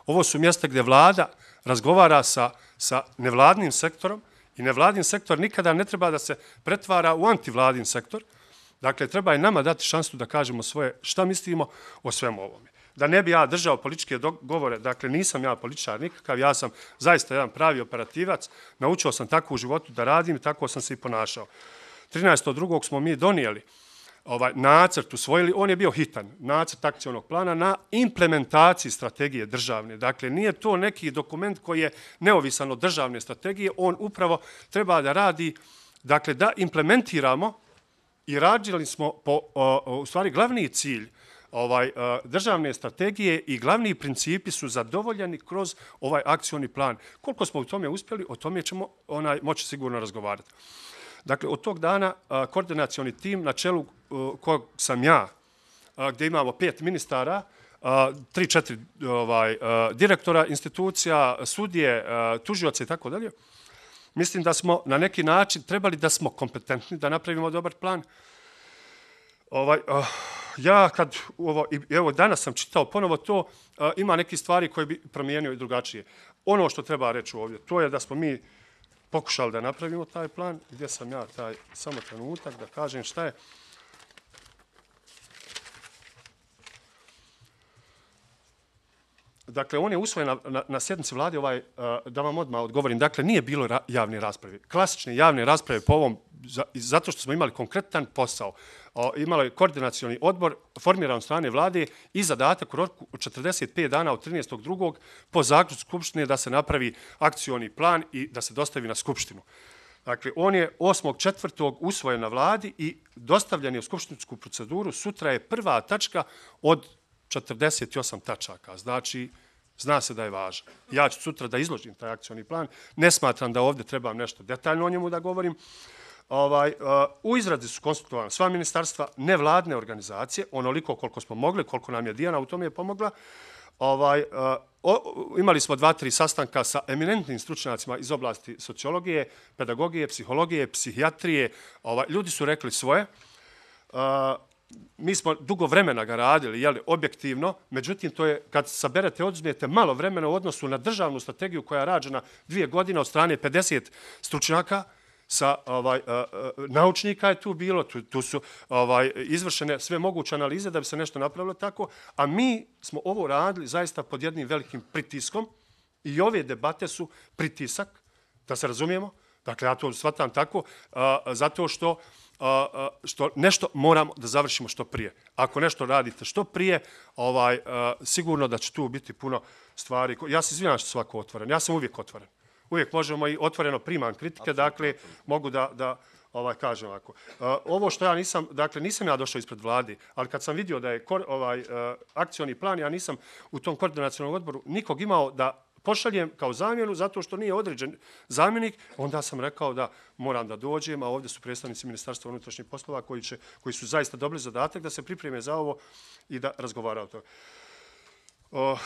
Ovo su mjesta gdje vlada razgovara sa, sa nevladnim sektorom i nevladin sektor nikada ne treba da se pretvara u antivladin sektor. Dakle, treba i nama dati šansu da kažemo svoje šta mislimo o svemu ovome. Da ne bi ja držao političke govore, dakle, nisam ja političar nikakav, ja sam zaista jedan pravi operativac, naučio sam tako u životu da radim i tako sam se i ponašao. trinaestog drugog smo mi donijeli ovaj nacrt, usvojili, on je bio hitan, nacrt akcionog plana na implementaciji strategije državne. Dakle, nije to neki dokument koji je neovisan od državne strategije, on upravo treba da radi, dakle, da implementiramo i radili smo po, o, u stvari, glavni cilj ovaj, državne strategije i glavni principi su zadovoljeni kroz ovaj akcioni plan. Koliko smo u tome uspjeli, o tome ćemo onaj, moći sigurno razgovarati. Dakle, od tog dana koordinacioni tim na čelu kojeg sam ja, gdje imamo pet ministara, tri, četiri ovaj, direktora institucija, sudije, tužioce i tako dalje, mislim da smo na neki način trebali da smo kompetentni, da napravimo dobar plan. Ovaj, ja kad, ovo, evo danas sam čitao ponovo to, ima neke stvari koje bi promijenio i drugačije. Ono što treba reći ovdje, to je da smo mi pokušali da napravimo taj plan, gdje sam ja taj samo trenutak da kažem šta je. Dakle, on je usvojen na, na, na sjednici vlade, ovaj, da vam odmah odgovorim, dakle, nije bilo ra, javne rasprave. Klasične javne rasprave po ovom, za, zato što smo imali konkretan posao. O, imalo je koordinacioni odbor formiran od strane vlade i zadatak u roku od četrdeset pet dana od trinaestog drugog po zaključku Skupštine da se napravi akcioni plan i da se dostavi na Skupštinu. Dakle, on je osmog četvrtog usvojen na vladi i dostavljen je u skupštinsku proceduru. Sutra je prva tačka od četrdeset osam tačaka. Znači, zna se da je važan. Ja ću sutra da izložim taj akcioni plan. Ne smatram da ovdje trebam nešto detaljno o njemu da govorim. Ovaj, uh, u izradi su konsultovane sva ministarstva, nevladne organizacije, onoliko koliko smo mogli, koliko nam je Dijana u tome je pomogla. Ovaj, uh, o, imali smo dva, tri sastanka sa eminentnim stručnjacima iz oblasti sociologije, pedagogije, psihologije, psihijatrije. Ovaj, ljudi su rekli svoje. Uh, mi smo dugo vremena ga radili, jeli, objektivno, međutim, to je, kad saberete, oduzmete malo vremena u odnosu na državnu strategiju koja je rađena dvije godine od strane pedeset stručnjaka, sa ovaj, uh, naučnika je tu bilo, tu, tu su ovaj, izvršene sve moguće analize da bi se nešto napravilo tako, a mi smo ovo radili zaista pod jednim velikim pritiskom i ove debate su pritisak, da se razumijemo, dakle ja to shvatam tako, uh, zato što, uh, što nešto moramo da završimo što prije. Ako nešto radite što prije, ovaj, uh, sigurno da će tu biti puno stvari. Ja se izvinjam što svako otvoren, ja sam uvijek otvoren. Uvijek možemo i otvoreno primam kritike, dakle, mogu da, da ovaj, kažem ovako. Uh, ovo što ja nisam, dakle, nisam ja došao ispred vlade, ali kad sam vidio da je kor, ovaj, uh, akcioni plan, ja nisam u tom koordinacionalnom odboru nikog imao da pošaljem kao zamjenu, zato što nije određen zamjenik, onda sam rekao da moram da dođem, a ovdje su predstavnici Ministarstva unutrašnjih poslova koji, će, koji su zaista dobili zadatak da se pripreme za ovo i da razgovara o to. Uh,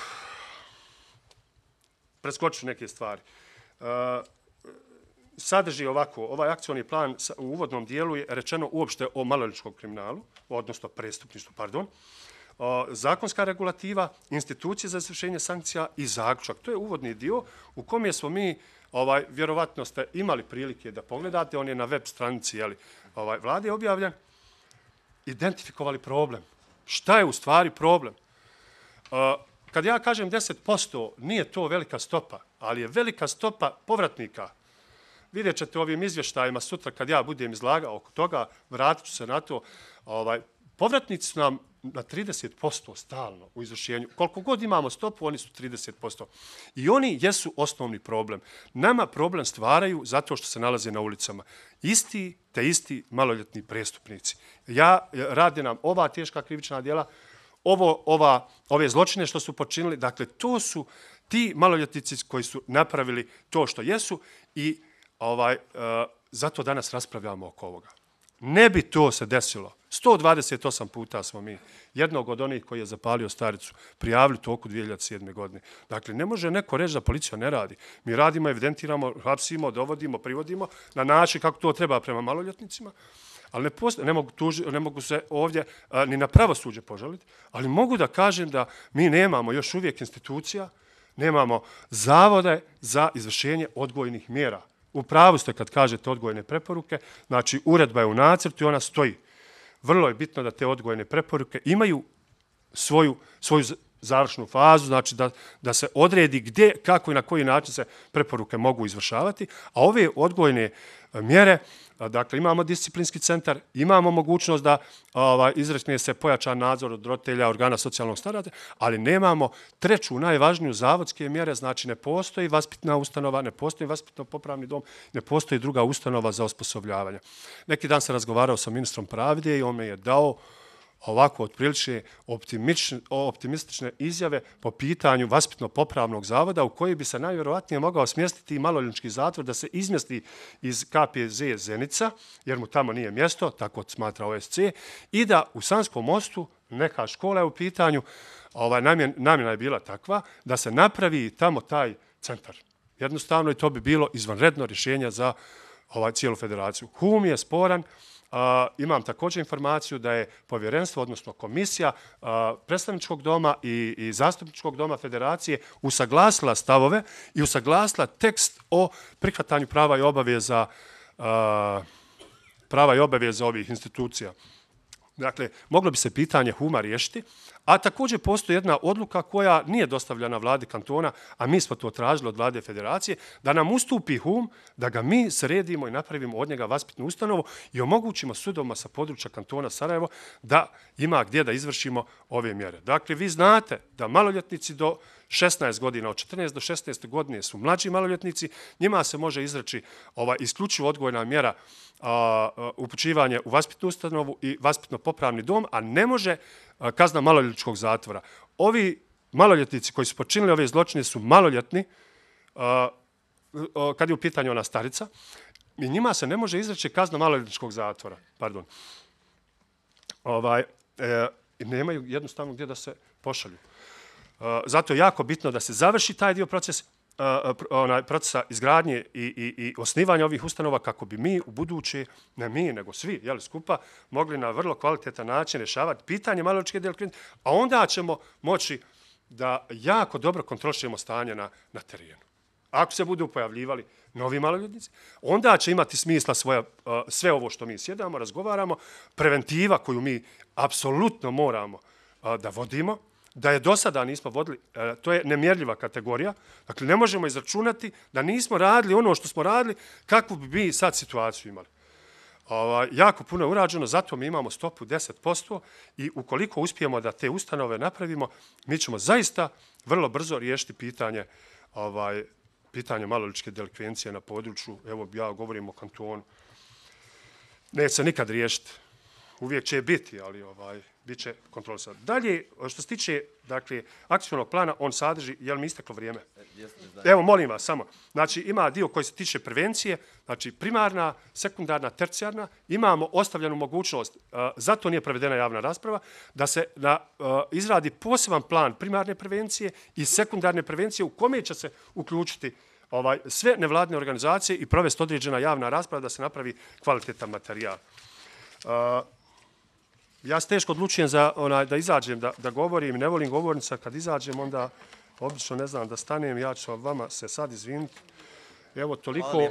preskoču neke stvari. Uh, sadrži ovako, ovaj akcioni plan u uvodnom dijelu je rečeno uopšte o maloljetničkom kriminalu, odnosno prestupništvu, pardon, uh, zakonska regulativa, institucije za izvršenje sankcija i zaključak. To je uvodni dio u kom smo mi, ovaj, vjerovatno ste imali prilike da pogledate, on je na web stranici jeli, ovaj, vlade objavljen, identifikovali problem. Šta je u stvari problem? Uh, Kad ja kažem deset posto, nije to velika stopa, ali je velika stopa povratnika. Vidjet ćete ovim izvještajima sutra kad ja budem izlagao oko toga, vratit ću se na to. Ovaj, povratnici su nam na trideset posto stalno u izvršenju. Koliko god imamo stopu, oni su trideset posto. I oni jesu osnovni problem. Nama problem stvaraju zato što se nalaze na ulicama. Isti te isti maloljetni prestupnici. Ja radi nam ova teška krivična djela, Ovo, ova, ove zločine što su počinili, dakle, to su ti maloljetnici koji su napravili to što jesu i ovaj, uh, zato danas raspravljamo oko ovoga. Ne bi to se desilo. sto dvadeset osam puta smo mi jednog od onih koji je zapalio staricu prijavili toku dvije hiljade sedme. godine. Dakle, ne može neko reći da policija ne radi. Mi radimo, evidentiramo, hapsimo, dovodimo, privodimo na način kako to treba prema maloljetnicima, ali ne, postoje, ne, mogu, tuži, ne mogu se ovdje a, ni na pravosuđe požaliti, ali mogu da kažem da mi nemamo još uvijek institucija, nemamo zavode za izvršenje odgojnih mjera. U pravu ste kad kažete odgojne preporuke, znači uredba je u nacrtu i ona stoji. Vrlo je bitno da te odgojne preporuke imaju svoju, svoju završnu fazu, znači da, da se odredi gdje, kako i na koji način se preporuke mogu izvršavati, a ove odgojne mjere, dakle imamo disciplinski centar, imamo mogućnost da ovaj, izrekne se pojačan nadzor od roditelja, organa socijalnog staratelja, ali nemamo treću, najvažniju zavodske mjere, znači ne postoji vaspitna ustanova, ne postoji vaspitno popravni dom, ne postoji druga ustanova za osposobljavanje. Neki dan sam razgovarao sa ministrom pravde i on me je dao ovako otprilične optimistične izjave po pitanju vaspitno-popravnog zavoda u koji bi se najvjerovatnije mogao smjestiti i maloljetnički zatvor da se izmjesti iz K P Z Zenica, jer mu tamo nije mjesto, tako smatra O S C, i da u Sanskom mostu neka škola je u pitanju, ovaj, namjena je bila takva, da se napravi tamo taj centar. Jednostavno i to bi bilo izvanredno rješenje za ovaj, cijelu federaciju. Hum je sporan. Uh, imam također informaciju da je povjerenstvo, odnosno komisija uh, predstavničkog doma i, i zastupničkog doma federacije usaglasila stavove i usaglasila tekst o prihvatanju prava i obaveza uh, prava i obaveza ovih institucija. Dakle, moglo bi se pitanje Huma riješiti, a također postoji jedna odluka koja nije dostavljena vladi kantona, a mi smo to tražili od vlade federacije, da nam ustupi Hum, da ga mi sredimo i napravimo od njega vaspitnu ustanovu i omogućimo sudovima sa područja kantona Sarajevo da ima gdje da izvršimo ove mjere. Dakle, vi znate da maloljetnici do šesnaest godina, od četrnaeste do šesnaeste godine su mlađi maloljetnici, njima se može izreći ova isključivo odgojna mjera a, a, upućivanje u vaspitnu ustanovu i vaspitno-popravni dom, a ne može a, kazna maloljetničkog zatvora. Ovi maloljetnici koji su počinili ove zločine su maloljetni, a, a, kad je u pitanju ona starica, i njima se ne može izreći kazna maloljetničkog zatvora. Pardon. Ovaj, e, nemaju jednostavno gdje da se pošalju. Zato je jako bitno da se završi taj dio proces, onaj procesa izgradnje i, i, i osnivanja ovih ustanova kako bi mi u buduće, ne mi, nego svi, jeli, skupa, mogli na vrlo kvalitetan način rješavati pitanje maloljetničke delikvencije, a onda ćemo moći da jako dobro kontrolišemo stanje na, na terenu. Ako se budu pojavljivali novi maloljetnici, onda će imati smisla svoja, sve ovo što mi sjedamo, razgovaramo, preventiva koju mi apsolutno moramo da vodimo, da je do sada nismo vodili, to je nemjerljiva kategorija, dakle ne možemo izračunati da nismo radili ono što smo radili, kakvu bi mi sad situaciju imali. Ova, jako puno je urađeno, zato mi imamo stopu deset posto i ukoliko uspijemo da te ustanove napravimo, mi ćemo zaista vrlo brzo riješiti pitanje, ovaj, pitanje maloljetničke delikvencije na području, evo ja govorim o kantonu, neće se nikad riješiti, uvijek će biti, ali ovaj, bit će kontrolisati. Dalje, što se tiče dakle, akcijnog plana, on sadrži, jel mi isteklo vrijeme? Evo, molim vas, samo. Znači, ima dio koji se tiče prevencije, znači primarna, sekundarna, tercijarna. Imamo ostavljenu mogućnost, uh, zato nije provedena javna rasprava, da se na, uh, izradi poseban plan primarne prevencije i sekundarne prevencije u kome će se uključiti ovaj, sve nevladine organizacije i provesti određena javna rasprava da se napravi kvalitetan materijal. Uh, Ja se teško odlučujem za onaj, da izađem, da, da govorim, ne volim govornica, kad izađem onda obično ne znam da stanem, ja ću vama se sad izviniti. Evo toliko,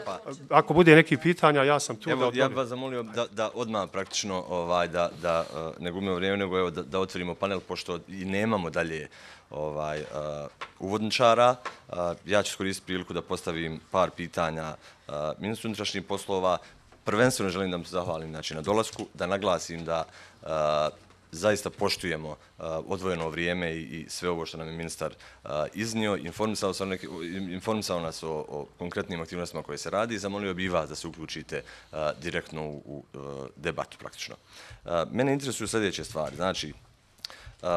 ako bude neki pitanja, ja sam tu. Evo, da odgovorim. ja bih vas zamolio da, da odmah praktično ovaj, da, da ne gubimo vrijeme, nego evo, da, da otvorimo panel, pošto i nemamo dalje ovaj, uh, uvodničara. Uh, ja ću iskoristiti priliku da postavim par pitanja uh, ministru unutrašnjih poslova. Prvenstveno želim da vam se zahvalim znači, na dolasku, da naglasim da uh, zaista poštujemo uh, odvojeno vrijeme i, i sve ovo što nam je ministar uh, iznio, informisao, neki, informisao nas o, o konkretnim aktivnostima koje se radi i zamolio bi vas da se uključite uh, direktno u, u uh, debatu praktično. Uh, mene interesuju sljedeće stvari. Znači, uh,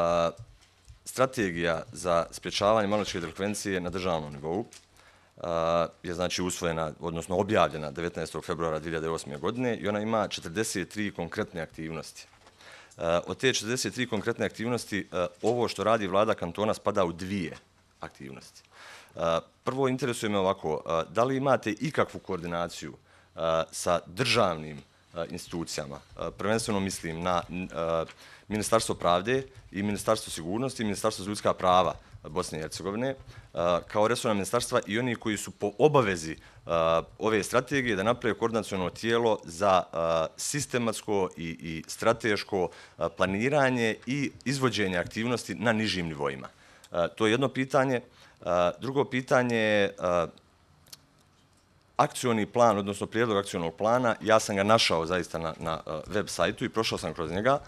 strategija za sprječavanje maloljetničke delikvencije na državnom nivou uh, je znači usvojena, odnosno objavljena devetnaestog februara dvije hiljade osme. godine i ona ima četrdeset tri konkretne aktivnosti. Uh, od te četrdeset tri konkretne aktivnosti, uh, ovo što radi vlada kantona spada u dvije aktivnosti. Uh, prvo, interesuje me ovako, uh, da li imate ikakvu koordinaciju uh, sa državnim uh, institucijama? Uh, prvenstveno mislim na uh, Ministarstvo pravde i Ministarstvo sigurnosti i Ministarstvo za ljudska prava Bosne i Hercegovine kao resorna ministarstva i oni koji su po obavezi ove strategije da naprave koordinaciono tijelo za sistematsko i, i strateško planiranje i izvođenje aktivnosti na nižim nivoima. To je jedno pitanje. Drugo pitanje je akcioni plan, odnosno prijedlog akcionog plana. Ja sam ga našao zaista na, na web sajtu i prošao sam kroz njega.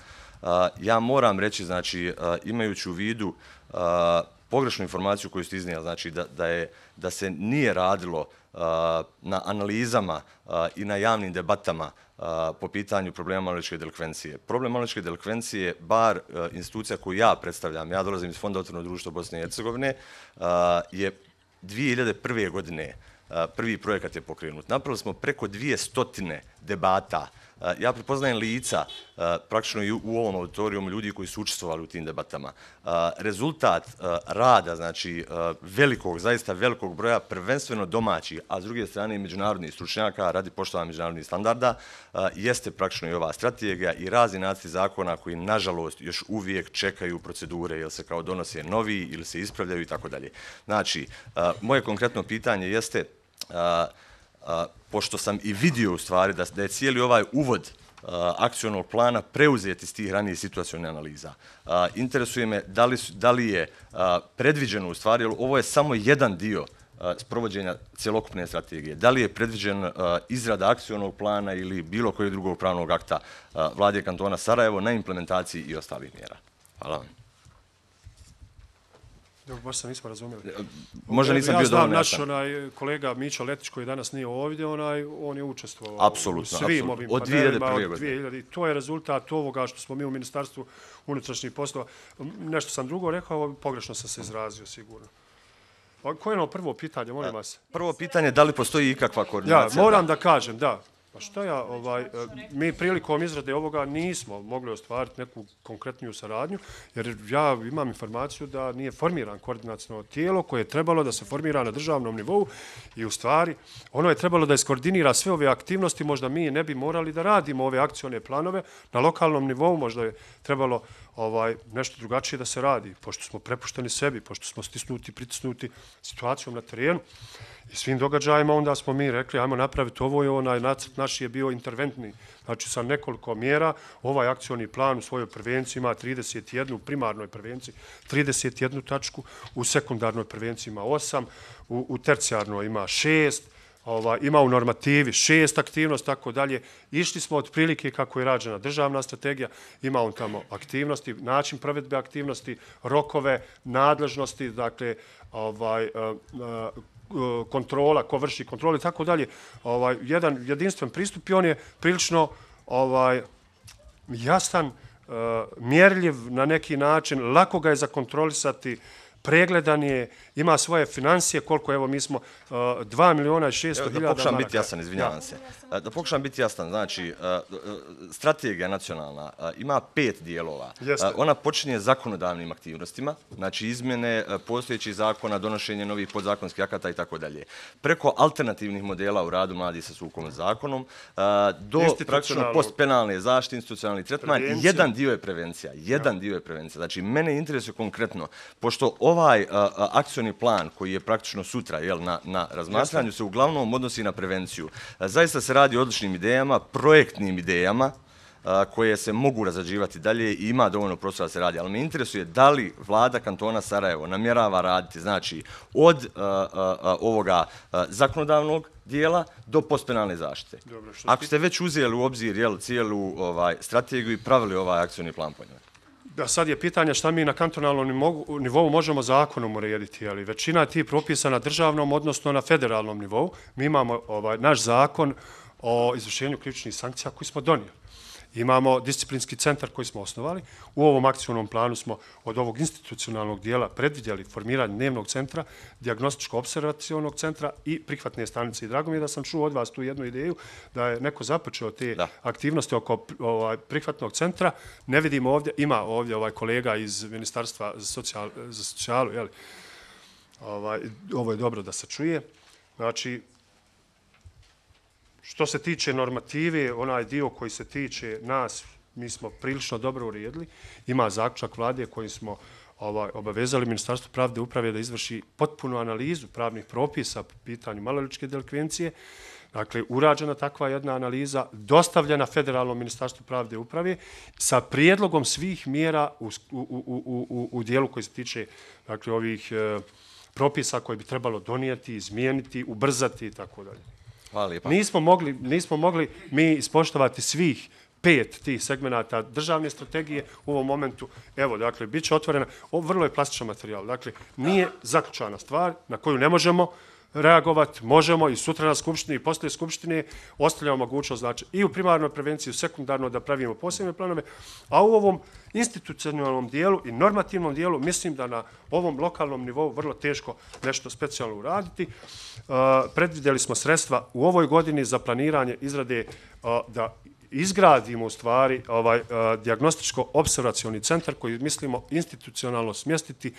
Ja moram reći, znači, imajući u vidu pogrešnu informaciju koju ste iznijeli, znači da, da, je, da se nije radilo na analizama i na javnim debatama po pitanju problema maloljetničke delikvencije. Problem maloljetničke delikvencije, bar institucija koju ja predstavljam, ja dolazim iz Fonda otvorenog društva Bosne i Hercegovine, je dvije hiljade prve. godine prvi projekat je pokrenut. Napravili smo preko dvije stotine debata. Ja prepoznajem lica, praktično i u ovom auditorijumu, ljudi koji su učestvovali u tim debatama. Rezultat rada, znači velikog, zaista velikog broja, prvenstveno domaćih, a s druge strane i međunarodnih stručnjaka radi poštovanja međunarodnih standarda, jeste praktično i ova strategija i razni nacrti zakona koji, nažalost, još uvijek čekaju procedure, jer se kao donose novi ili se ispravljaju i tako dalje. Znači, moje konkretno pitanje jeste, pošto sam i vidio u stvari da, da je cijeli ovaj uvod uh, akcionog plana preuzet iz tih ranijih situacionih analiza. Uh, interesuje me da li, da li je uh, predviđeno u stvari, jer ovo je samo jedan dio uh, sprovođenja cjelokupne strategije. Da li je predviđen uh, izrada akcionog plana ili bilo kojeg drugog pravnog akta uh, vlade kantona Sarajevo na implementaciji i ostalih mjera? Hvala vam. Dobro, baš sam nismo razumjeli. Možda nisam bio dovoljno jasan. Ja znam naš onaj, kolega Mićo Letić koji danas nije ovdje, onaj, on je učestvovao apsolutno, u svim apsolutno. ovim od dvije hiljade prve. Od dvije hiljade. To je rezultat ovoga što smo mi u Ministarstvu unutrašnjih poslova. Nešto sam drugo rekao, pogrešno sam se izrazio sigurno. Koje je ono prvo pitanje, molim vas? Prvo pitanje, da li postoji ikakva koordinacija? Ja, moram da kažem, da. Pa što ja, ovaj, mi prilikom izrade ovoga nismo mogli ostvariti neku konkretniju saradnju, jer ja imam informaciju da nije formiran koordinacijno tijelo koje je trebalo da se formira na državnom nivou i u stvari ono je trebalo da iskoordinira sve ove aktivnosti, možda mi ne bi morali da radimo ove akcione planove na lokalnom nivou, možda je trebalo ovaj, nešto drugačije da se radi, pošto smo prepušteni sebi, pošto smo stisnuti, pritisnuti situacijom na terenu. I svim događajima onda smo mi rekli, ajmo napraviti ovo i onaj nacrt naš je bio interventni. Znači sa nekoliko mjera, ovaj akcioni plan u svojoj prevenciji ima trideset jedan, u primarnoj prevenciji trideset jednu tačku, u sekundarnoj prevenciji ima osam, u, u tercijarnoj ima šest, ova, ima u normativi šest aktivnosti, tako dalje. Išli smo od prilike kako je rađena državna strategija, ima on tamo aktivnosti, način provedbe aktivnosti, rokove, nadležnosti, dakle, ovaj, kontrola, ko vrši kontrolu i tako dalje. Ovaj, jedan jedinstven pristup i on je prilično ovaj, jasan, uh, mjerljiv na neki način, lako ga je zakontrolisati, pregledan je, ima svoje financije, koliko, evo, mi smo uh, dva miliona i šesto hiljada maraka. Da pokušam biti jasan, izvinjavam se. Da pokušam biti jasan, znači, uh, strategija nacionalna uh, ima pet dijelova. Uh, ona počinje zakonodavnim aktivnostima, znači izmjene uh, postojećih zakona, donošenje novih podzakonskih akata i tako dalje. Preko alternativnih modela u radu mladih sa sukovim zakonom, uh, do praktično postpenalne zaštite, institucionalni tretman, jedan dio je prevencija. Jedan ja. dio je prevencija. Znači, mene interesuje konkretno, pošto ovaj uh, akcioni plan koji je praktično sutra jel, na, na razmatranju se uglavnom odnosi na prevenciju. Uh, zaista se radi o odličnim idejama, projektnim idejama uh, koje se mogu razrađivati dalje i ima dovoljno prostora da se radi. Ali me interesuje da li vlada kantona Sarajevo namjerava raditi znači, od uh, uh, ovoga uh, zakonodavnog dijela do postpenalne zaštite. Dobro, ako ste već uzeli u obzir jel, cijelu ovaj, strategiju i pravili ovaj akcioni plan po njoj. Da, sad je pitanje šta mi na kantonalnom nivou možemo zakonom urediti, ali većina je ti propisa na državnom, odnosno na federalnom nivou. Mi imamo ovaj, naš zakon o izvršenju krivičnih sankcija koji smo donijeli. Imamo disciplinski centar koji smo osnovali. U ovom akcionom planu smo od ovog institucionalnog dijela predvidjeli formiranje dnevnog centra, dijagnostičko-observacionog centra i prihvatne stanice. I drago mi je da sam čuo od vas tu jednu ideju da je neko započeo te da. aktivnosti oko ovaj, prihvatnog centra. Ne vidimo ovdje, ima ovdje ovaj kolega iz Ministarstva za, socijal, za socijalu, jeli? Ovaj, ovo je dobro da se čuje. Znači, što se tiče normative, onaj dio koji se tiče nas, mi smo prilično dobro uredili. Ima zaključak vlade kojim smo ovaj, obavezali Ministarstvo pravde uprave da izvrši potpunu analizu pravnih propisa po pitanju maloljetničke delikvencije. Dakle, urađena takva jedna analiza, dostavljena Federalnom Ministarstvu pravde uprave sa prijedlogom svih mjera u, u, u, u, u dijelu koji se tiče dakle, ovih e, propisa koje bi trebalo donijeti, izmijeniti, ubrzati i tako dalje. Hvala lijepa. Nismo mogli, nismo mogli mi ispoštovati svih pet tih segmenata državne strategije u ovom momentu. Evo, dakle, bit će otvorena. Ovo vrlo je plastičan materijal. Dakle, nije zaključana stvar na koju ne možemo reagovati, možemo i sutra na skupštini i poslije skupštine ostavljamo mogućnost, znači, i u primarnoj prevenciji, i u sekundarno da pravimo posebne planove, a u ovom institucionalnom dijelu i normativnom dijelu mislim da na ovom lokalnom nivou vrlo teško nešto specijalno uraditi. Uh, predvidjeli smo sredstva u ovoj godini za planiranje izrade uh, da izgradimo u stvari ovaj uh, dijagnostičko-observacioni centar koji mislimo institucionalno smjestiti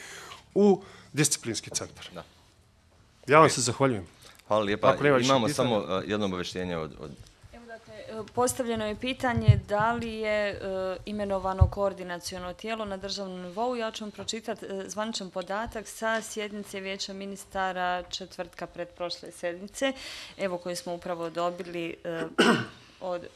u disciplinski centar. Da. Ja vam se zahvaljujem. Hvala lijepa. Imamo samo uh, jedno obavještenje od... od... Evo dakle, postavljeno je pitanje da li je uh, imenovano koordinaciono tijelo na državnom nivou. Ja ću vam pročitati uh, zvaničan podatak sa sjednice Vijeća ministara četvrtka pretprošle sedmice, evo koju smo upravo dobili uh, od...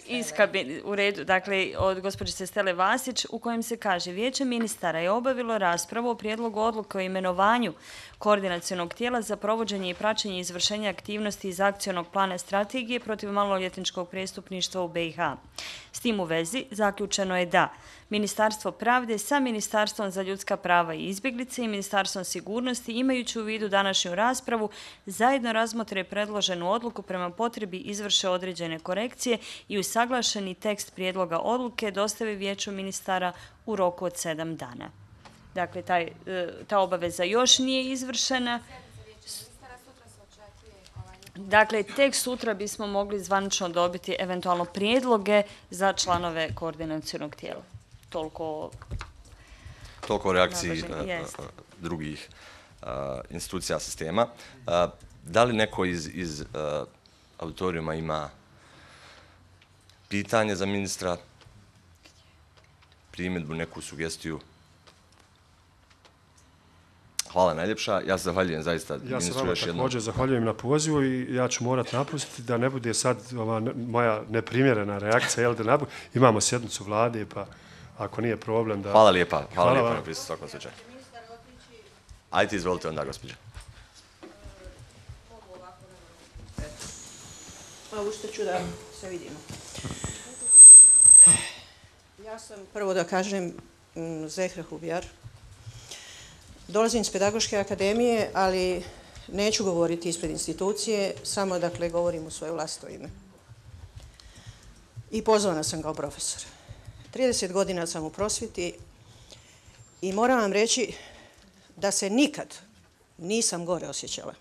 iz kabine, u redu, dakle, od gospođice Stele Vasić, u kojem se kaže Vijeće ministara je obavilo raspravu o prijedlogu odluke o imenovanju koordinacionog tijela za provođenje i praćenje izvršenja aktivnosti iz akcionog plana strategije protiv maloljetničkog prestupništva u B i H. S tim u vezi zaključeno je da Ministarstvo pravde sa Ministarstvom za ljudska prava i izbjeglice i Ministarstvom sigurnosti, imajući u vidu današnju raspravu, zajedno razmotre predloženu odluku prema potrebi izvrše određene korekcije i usaglašeni tekst prijedloga odluke dostave Vijeću ministara u roku od sedam dana. Dakle, taj, ta obaveza još nije izvršena. Dakle, tek sutra bismo mogli zvanično dobiti eventualno prijedloge za članove koordinacionog tijela. Toliko... Toliko o reakciji drugih institucija sistema. Da li neko iz, iz auditorijuma ima pitanje za ministra, primjedbu, neku sugestiju? Hvala najljepša. Ja se zahvaljujem zaista ja ministru se vama još jednom. Također zahvaljujem na pozivu i ja ću morati napustiti da ne bude sad ova moja neprimjerena reakcija. Jel da nabu... Imamo sjednicu vlade, pa ako nije problem da... Hvala lijepa. Hvala, Hvala lijepa na prisutstvu svakom slučaju. Ajde, izvolite onda, gospođa. Pa ušteću da se vidimo. Ja sam, prvo da kažem, Zehra Hubjar. Dolazim iz Pedagoške akademije, ali neću govoriti ispred institucije, samo dakle govorim u svoje vlastito ime. I pozvana sam kao profesor. trideset godina sam u prosvjeti i moram vam reći da se nikad nisam gore osjećala.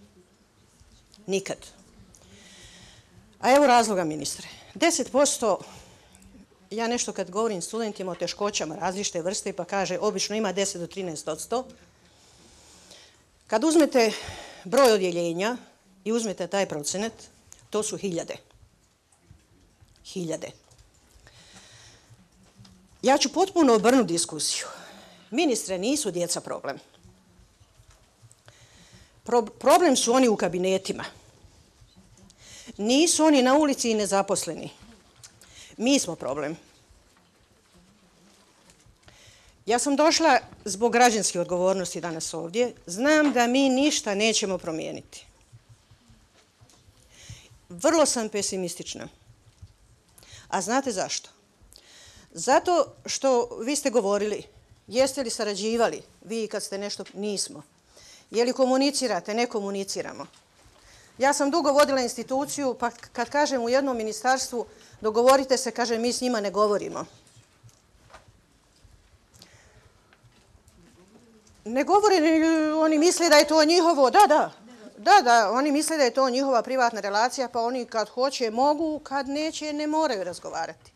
Nikad. A evo razloga, ministre. deset posto, ja nešto kad govorim studentima o teškoćama različite vrste, pa kaže obično ima deset do trinaest odsto. Kad uzmete broj odjeljenja i uzmete taj procenat, to su hiljade. Hiljade. Ja ću potpuno obrnuti diskusiju. Ministre, nisu djeca problem. Pro, problem su oni u kabinetima. Nisu oni na ulici i nezaposleni. Mi smo problem. Ja sam došla zbog građanske odgovornosti danas ovdje. Znam da mi ništa nećemo promijeniti. Vrlo sam pesimistična. A znate zašto? Zato što vi ste govorili, jeste li sarađivali, vi kad ste nešto, nismo. Je li komunicirate, ne komuniciramo. Ja sam dugo vodila instituciju, pa kad kažem u jednom ministarstvu dogovorite se, kaže mi s njima ne govorimo. Ne govore, oni misle da je to njihovo, da, da, da, da, oni misle da je to njihova privatna relacija, pa oni kad hoće mogu, kad neće ne moraju razgovarati.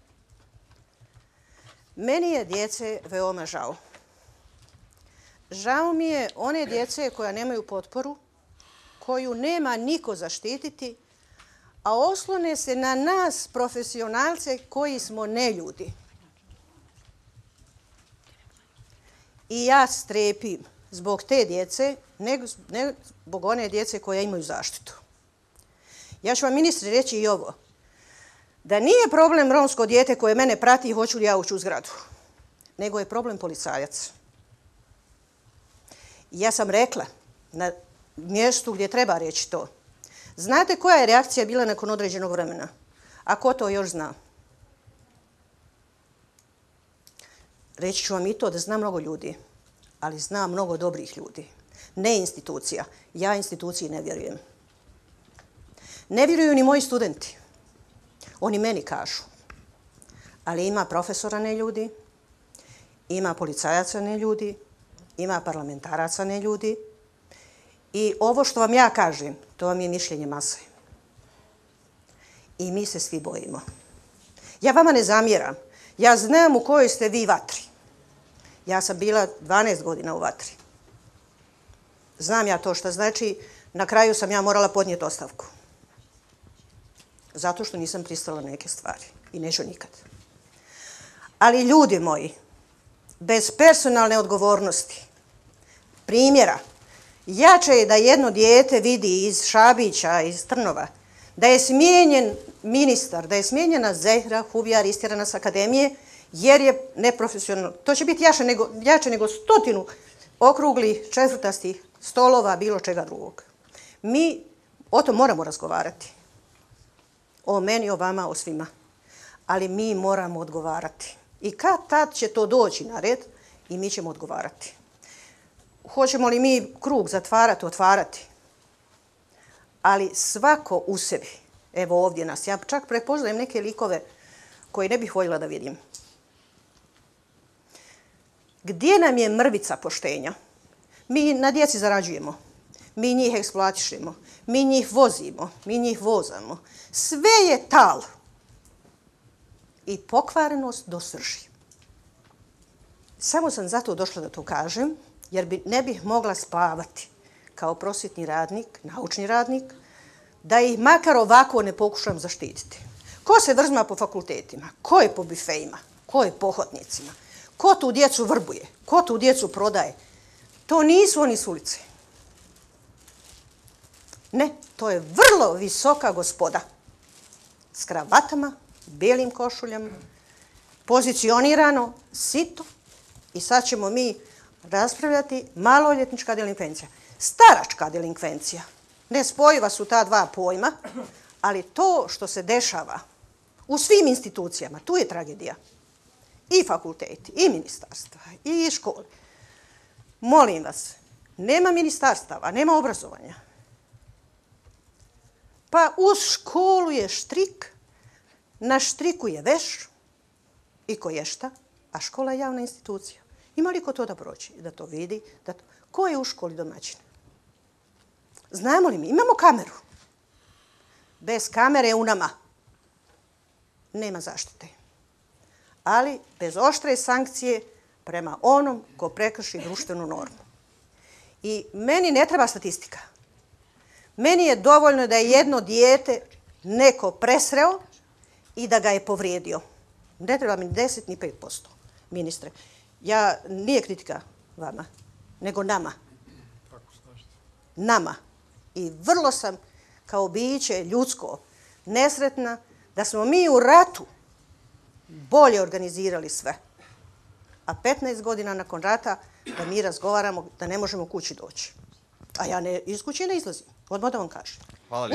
Meni je djece veoma žao. Žao mi je one djece koja nemaju potporu, koju nema niko zaštititi, a oslone se na nas, profesionalce, koji smo neljudi. I ja strepim zbog te djece, ne zbog one djece koje imaju zaštitu. Ja ću vam, ministri, reći i ovo. Da nije problem romsko dijete koje mene prati i hoću li ja ući u zgradu, nego je problem policajac. Ja sam rekla na mjestu gdje treba reći to. Znate koja je reakcija bila nakon određenog vremena? A ko to još zna? Reći ću vam i to da zna mnogo ljudi, ali zna mnogo dobrih ljudi. Ne institucija. Ja instituciji ne vjerujem. Ne vjeruju ni moji studenti. Oni meni kažu. Ali ima profesora ne ljudi, ima policajaca ne ljudi, ima parlamentaraca ne ljudi. I ovo što vam ja kažem, to vam je mišljenje mase. I mi se svi bojimo. Ja vama ne zamjeram. Ja znam u kojoj ste vi vatri. Ja sam bila dvanaest godina u vatri. Znam ja to što znači. Na kraju sam ja morala podnijeti ostavku. Zato što nisam pristala neke stvari. I neću nikad. Ali ljudi moji, bez personalne odgovornosti, primjera, jače je da jedno dijete vidi iz Šabića, iz Trnova, da je smijenjen ministar, da je smijenjena Zehra Hubjar, istjerana s akademije, jer je neprofesionalno. To će biti jače nego, jače nego stotinu okruglih, četvrtastih stolova, bilo čega drugog. Mi o tom moramo razgovarati. O meni, o vama, o svima. Ali mi moramo odgovarati. I kad tad će to doći na red i mi ćemo odgovarati. Hoćemo li mi krug zatvarati, otvarati? Ali svako u sebi, evo ovdje nas, ja čak prepoznajem neke likove koje ne bih voljela da vidim. Gdje nam je mrvica poštenja? Mi na djeci zarađujemo, mi njih eksploatišemo, mi njih vozimo, mi njih vozamo. Sve je tal i pokvarenost do srži. Samo sam zato došla da to kažem, jer bi, ne bih mogla spavati kao prosvjetni radnik, naučni radnik, da ih makar ovako ne pokušam zaštititi. Ko se vrzma po fakultetima? Ko je po bifejima? Ko je po hodnicima? Ko tu djecu vrbuje? Ko tu djecu prodaje? To nisu oni s ulice. Ne, to je vrlo visoka gospoda. S kravatama, belim košuljama, pozicionirano, sito. I sad ćemo mi raspravljati maloljetnička delinkvencija. Staračka delinkvencija. Nespojiva su ta dva pojma, ali to što se dešava u svim institucijama, tu je tragedija. I fakulteti, i ministarstva, i škole. Molim vas, nema ministarstava, nema obrazovanja. Pa uz školu je štrik, na štriku je veš i koješta, a škola je javna institucija. Ima li ko to da proći, da to vidi? Da to... Ko je u školi domaćin? Znamo li mi? Imamo kameru. Bez kamere u nama nema zaštite. Ali bez oštre sankcije prema onom ko prekrši društvenu normu. I meni ne treba statistika. Meni je dovoljno da je jedno dijete neko presreo i da ga je povrijedio. Ne treba mi deset ni pet posto, ministre. Ja, nije kritika vama, nego nama. Nama. I vrlo sam kao biće ljudsko nesretna da smo mi u ratu bolje organizirali sve. A petnaest godina nakon rata da mi razgovaramo da ne možemo kući doći. A ja ne, iz kuće ne izlazim. Odmah da vam kažem.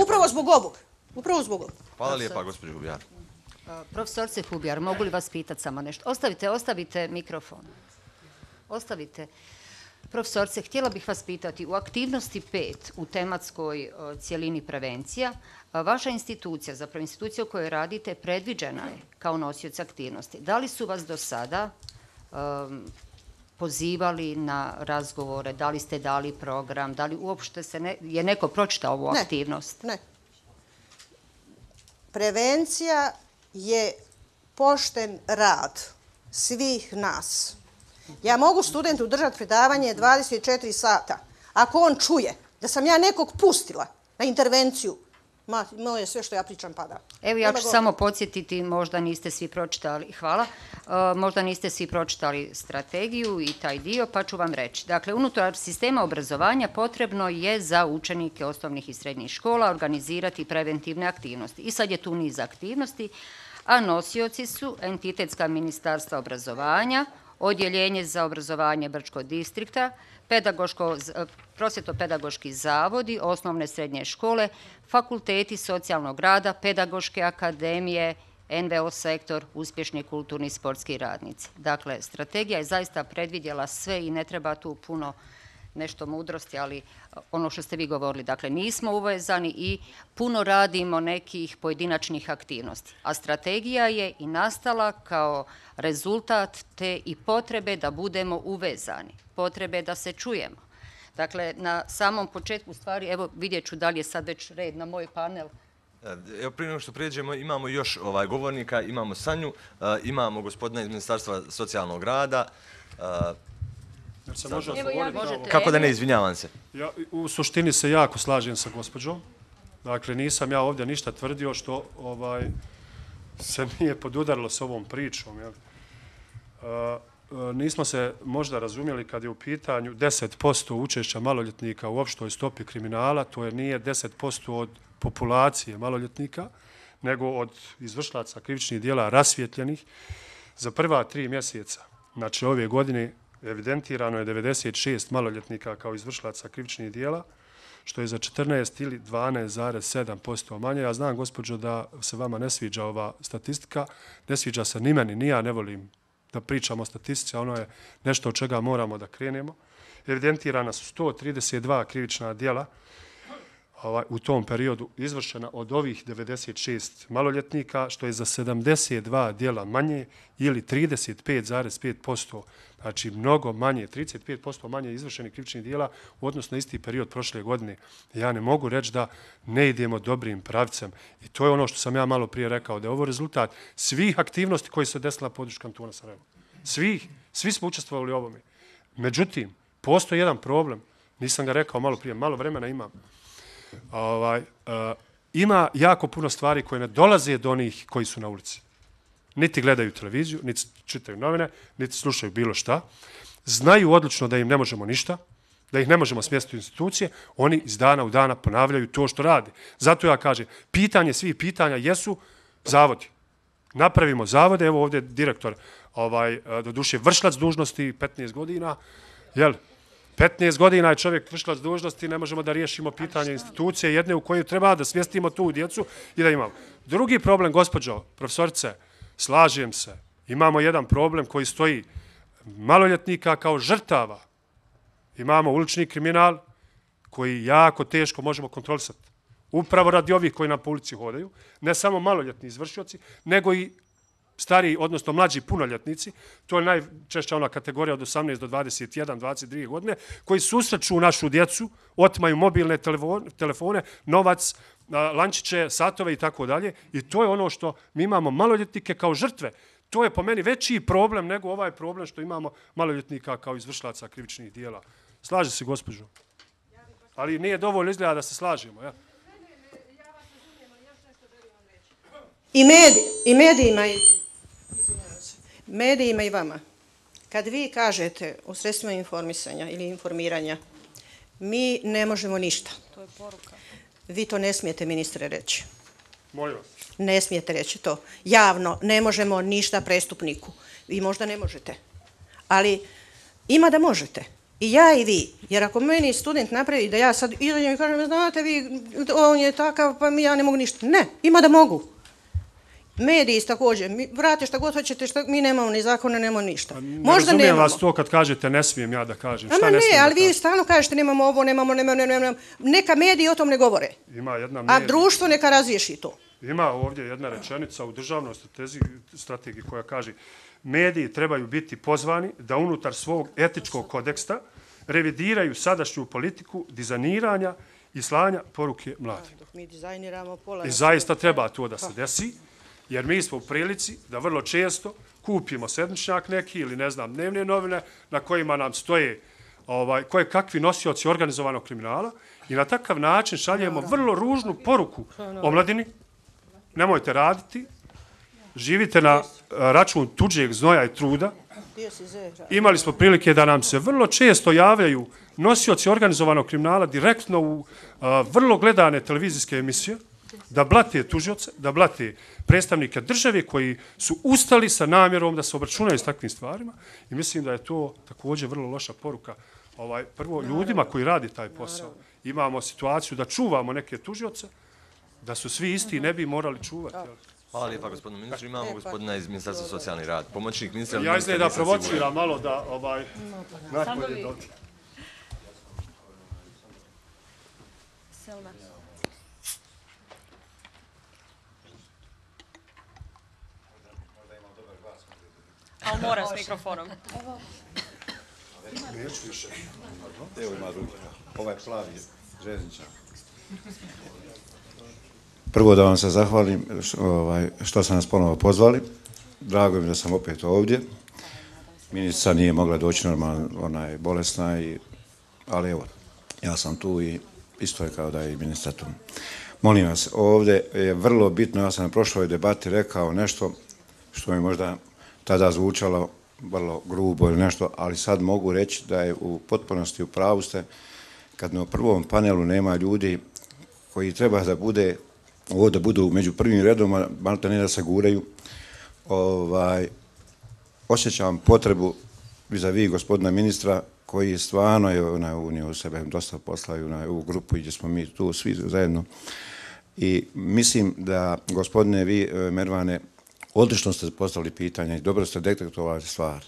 Upravo zbog ovog. Upravo zbog ovog. Hvala lijepa, gospođo Hubjar. Profesorce Hubjar, mogu li vas pitati samo nešto? Ostavite, ostavite mikrofon. Ostavite. Profesorce, htjela bih vas pitati, u aktivnosti pet u tematskoj cjelini prevencija, vaša institucija, zapravo institucija u kojoj radite, predviđena je kao nosioc aktivnosti. Da li su vas do sada um, pozivali na razgovore, da li ste dali program, da li uopšte se ne, je neko pročitao ovu ne, aktivnost? Ne. Prevencija je pošten rad svih nas. Ja mogu studentu držati predavanje dvadeset četiri sata. Ako on čuje da sam ja nekog pustila na intervenciju, ma, moje sve što ja pričam pada. Evo ja ću samo podsjetiti, možda niste svi pročitali, hvala, uh, možda niste svi pročitali strategiju i taj dio, pa ću vam reći. Dakle, unutar sistema obrazovanja potrebno je za učenike osnovnih i srednjih škola organizirati preventivne aktivnosti. I sad je tu niz aktivnosti, a nosioci su entitetska ministarstva obrazovanja, Odjeljenje za obrazovanje Brčkog distrikta, prosvjetno-pedagoški zavodi, osnovne srednje škole, fakulteti socijalnog rada, pedagoške akademije, en ve o sektor, uspješni kulturni i sportski radnici. Dakle, strategija je zaista predvidjela sve i ne treba tu puno nešto mudrosti, ali ono što ste vi govorili, dakle, nismo uvezani i puno radimo nekih pojedinačnih aktivnosti. A strategija je i nastala kao rezultat te i potrebe da budemo uvezani, potrebe da se čujemo. Dakle, na samom početku stvari, evo vidjet ću da li je sad već red na moj panel. Evo, prije nego što prijeđemo, imamo još ovaj govornika, imamo Sanju, imamo gospodina iz Ministarstva socijalnog rada. Kako da ne, izvinjavam se. Ja u suštini se jako slažem sa gospođom. Dakle, nisam ja ovdje ništa tvrdio što ovaj, se nije podudarilo s ovom pričom. Jel? A, nismo se možda razumjeli kad je u pitanju deset posto učešća maloljetnika u opštoj stopi kriminala, to je nije deset posto od populacije maloljetnika, nego od izvršlaca krivičnih dijela rasvjetljenih za prva tri mjeseca. Znači, ove godine evidentirano je devedeset šest maloljetnika kao izvršlaca krivičnih dijela, što je za četrnaest ili dvanaest zarez sedam posto manje. Ja znam, gospođo, da se vama ne sviđa ova statistika, ne sviđa se ni meni, ni ja ne volim da pričamo o statistici, a ono je nešto od čega moramo da krenemo. Evidentirana su sto trideset dva krivična dijela ovaj, u tom periodu izvršena od ovih devedeset šest maloljetnika, što je za sedamdeset dva dijela manje ili trideset pet zarez pet posto, znači mnogo manje, trideset pet posto manje izvršenih krivičnih dijela u odnosu na isti period prošle godine. Ja ne mogu reći da ne idemo dobrim pravcem. I to je ono što sam ja malo prije rekao, da je ovo rezultat svih aktivnosti koje se desila na području kantona Sarajevo. Svih, svi smo učestvovali u ovome. Međutim, postoji jedan problem, nisam ga rekao malo prije, malo vremena imam. Ovaj, uh, ima jako puno stvari koje ne dolaze do onih koji su na ulici. Niti gledaju televiziju, niti čitaju novine, niti slušaju bilo šta. Znaju odlično da im ne možemo ništa, da ih ne možemo smjestiti u institucije, oni iz dana u dana ponavljaju to što rade. Zato ja kažem, pitanje svih pitanja jesu zavodi. Napravimo zavode, evo ovdje direktor, ovaj, do duše vršilac dužnosti, petnaest godina, jel? petnaest godina je čovjek vršilac dužnosti, ne možemo da riješimo pitanje institucije jedne u kojoj treba da smjestimo tu djecu i da imamo. Drugi problem, gospođo profesorice, slažem se, imamo jedan problem koji stoji maloljetnika kao žrtava. Imamo ulični kriminal koji jako teško možemo kontrolisati. Upravo radi ovih koji nam po ulici hodaju, ne samo maloljetni izvršioci, nego i stariji, odnosno mlađi punoljetnici, to je najčešća ona kategorija od osamnaest do dvadeset jedan, dvadeset dvije godine, koji susreću našu djecu, otmaju mobilne telefone, novac, lančiće, satove i tako dalje. I to je ono što mi imamo maloljetnike kao žrtve. To je po meni veći problem nego ovaj problem što imamo maloljetnika kao izvršlaca krivičnih dijela. Slaže se, gospođo? Ali nije dovoljno izgleda da se slažemo, ja? I, medij, i medijima, i, medijima i vama, kad vi kažete u sredstvima informisanja ili informiranja, mi ne možemo ništa. To je poruka. Vi to ne smijete, ministre, reći. Molim vas. Ne smijete reći to. Javno ne možemo ništa prestupniku. Vi možda ne možete. Ali ima da možete. I ja i vi. Jer ako meni student napravi da ja sad izađem i kažem, znate vi, on je takav, pa mi ja ne mogu ništa. Ne, ima da mogu. Mediji također, vrate šta god hoćete, šta, mi nemamo ni zakona, nemamo ništa. Ne Možda razumijem nemamo. vas to kad kažete ne smijem ja da kažem. Ama Šta ne, ne smijem ali da vi kažem? stalno kažete nemamo ovo, nemamo, nemamo, nemamo. Neka mediji o tom ne govore. Ima jedna A medij, društvo neka razriješi to. ima ovdje jedna rečenica u državnoj stratezi- strategiji koja kaže mediji trebaju biti pozvani da unutar svog etičkog kodeksta revidiraju sadašnju politiku dizajniranja i slanja poruke mladima. Dok mi dizajniramo pola... I zaista treba to da se desi, jer mi smo u prilici da vrlo često kupimo sedmičnjak neki ili ne znam dnevne novine na kojima nam stoje ovaj, koje kakvi nosioci organizovanog kriminala i na takav način šaljemo vrlo ružnu poruku omladini. Nemojte raditi, živite na račun tuđeg znoja i truda. Imali smo prilike da nam se vrlo često javljaju nosioci organizovanog kriminala direktno u a, vrlo gledane televizijske emisije, da blate tužioce, da blate predstavnike države koji su ustali sa namjerom da se obračunaju s takvim stvarima i mislim da je to također vrlo loša poruka. Ovaj, prvo, ljudima koji radi taj posao. Imamo situaciju da čuvamo neke tužioce, da su svi isti i ne bi morali čuvati. Jel? Hvala lijepa gospodinu ministru. Imamo gospodina iz Ministarstva socijalni rad. Pomoćnik ministra. Ja izgleda da provociram malo da ovaj, najbolje dođe. Selma. Ali moram s mikrofonom. Neću više. Evo ima drugi. Ovaj plavi željezničar. Prvo da vam se zahvalim ovaj, što ste nas ponovo pozvali. Drago mi da sam opet ovdje. Ministrica nije mogla doći normalno, ona je bolesna, i, ali evo, ja sam tu i isto je kao da je i ministar tu. Molim vas, ovdje je vrlo bitno, ja sam na prošloj debati rekao nešto što mi možda tada zvučalo vrlo grubo ili nešto, ali sad mogu reći da je u potpunosti u pravu ste kad na prvom panelu nema ljudi koji treba da bude, ovo da budu među prvim redom, malo ne da se guraju, ovaj, osjećam potrebu vis-a-vis gospodina ministra koji stvarno je unio u sebe dosta posla i u ovu grupu gdje smo mi tu svi zajedno. I mislim da, gospodine vi, Mervane, odlično ste postavili pitanje i dobro ste detektovali stvar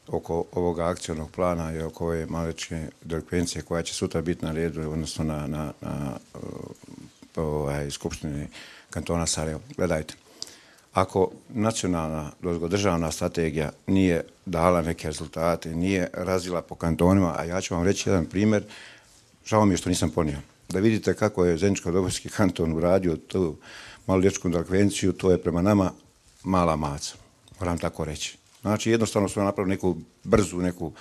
oko ovoga akcionog plana i oko ove malečke delikvencije koja će sutra biti na redu, odnosno na, na, na ovaj, Skupštini kantona Sarajevo. Gledajte, ako nacionalna državna strategija nije dala neke rezultate, nije razvila po kantonima, a ja ću vam reći jedan primjer, žao mi je što nisam ponio. Da vidite kako je Zeničko-Dobojski kanton uradio tu maloljetčku delikvenciju, to je prema nama mala maca, moram tako reći. Znači, jednostavno smo napravili neku brzu, neku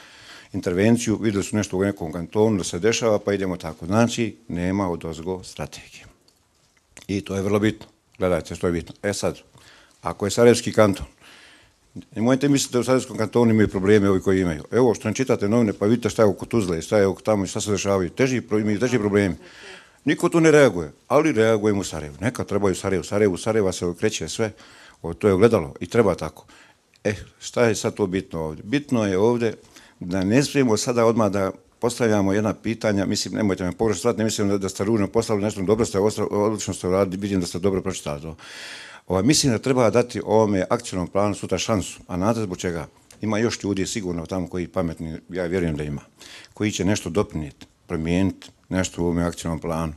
intervenciju, vidjeli su nešto u nekom kantonu da se dešava, pa idemo tako. Znači, nema odozgo strategije. I to je vrlo bitno. Gledajte, što je bitno. E sad, ako je Sarajevski kanton, nemojte misliti da u Sarajevskom kantonu imaju probleme ovi koji imaju. Evo, što ne čitate novine, pa vidite šta je oko Tuzle, šta je oko tamo i šta se dešavaju. Teži, imaju teži problemi. Niko tu ne reaguje, ali reagujemo u Sarajevu. Neka trebaju Sarajevu. Sarajevu, Sarajeva se okreće sve. O, to je ogledalo i treba tako. E, šta je sad to bitno ovdje? Bitno je ovdje da ne smijemo sada odmah da postavljamo jedna pitanja, mislim, nemojte me pogrešno shvatiti, ne mislim da, da ste ružno postavili nešto, dobro ste, odlično ste uradili, vidim da ste dobro pročitali to. Ovaj, mislim da treba dati ovome akcijnom planu sutra šansu, a znate zbog čega? Ima još ljudi sigurno tamo koji pametni, ja vjerujem da ima, koji će nešto doprinijeti, promijeniti nešto u ovome akcijnom planu.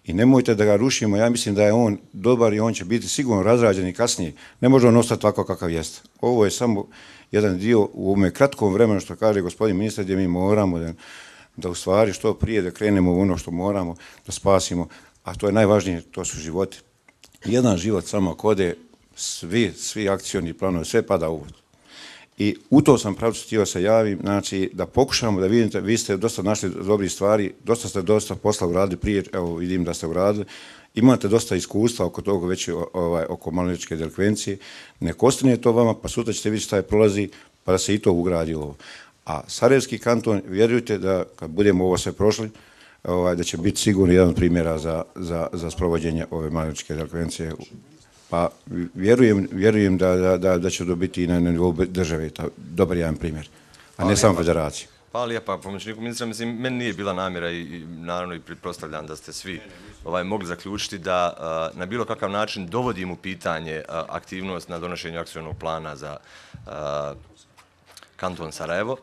I nemojte da ga rušimo, ja mislim da je on dobar i on će biti sigurno razrađen i kasnije. Ne može on ostati tako kakav jeste. Ovo je samo jedan dio u ovome kratkom vremenu što kaže gospodin ministar gdje mi moramo da, da u stvari što prije da krenemo u ono što moramo da spasimo, a to je najvažnije, to su životi. Jedan život samo kode, svi, svi akcioni planovi, sve pada u vod. I u to sam pravcu htio se javim, znači da pokušamo da vidite, vi ste dosta našli dobrih stvari, dosta ste dosta posla uradili prije, evo vidim da ste uradili, imate dosta iskustva oko toga već ovaj, oko maloljetničke delikvencije, nek ostane to vama, pa sutra ćete vidjeti šta je prolazi, pa da se i to ugradi ovo. A Sarajevski kanton, vjerujte da kad budemo ovo sve prošli, ovaj, da će biti sigurno jedan od primjera za, za, za sprovođenje ove maloljetničke delikvencije. Pa vjerujem, vjerujem da, da, da, da će dobiti i na nivou države, dobar jedan primjer, a ne samo federacija. Hvala lijepa pomoćniku ministra. Mislim, meni nije bila namjera i naravno i pretpostavljam da ste svi mogli zaključiti da na bilo kakav način dovodim u pitanje aktivnost na donošenju akcionog plana za kanton Sarajevo.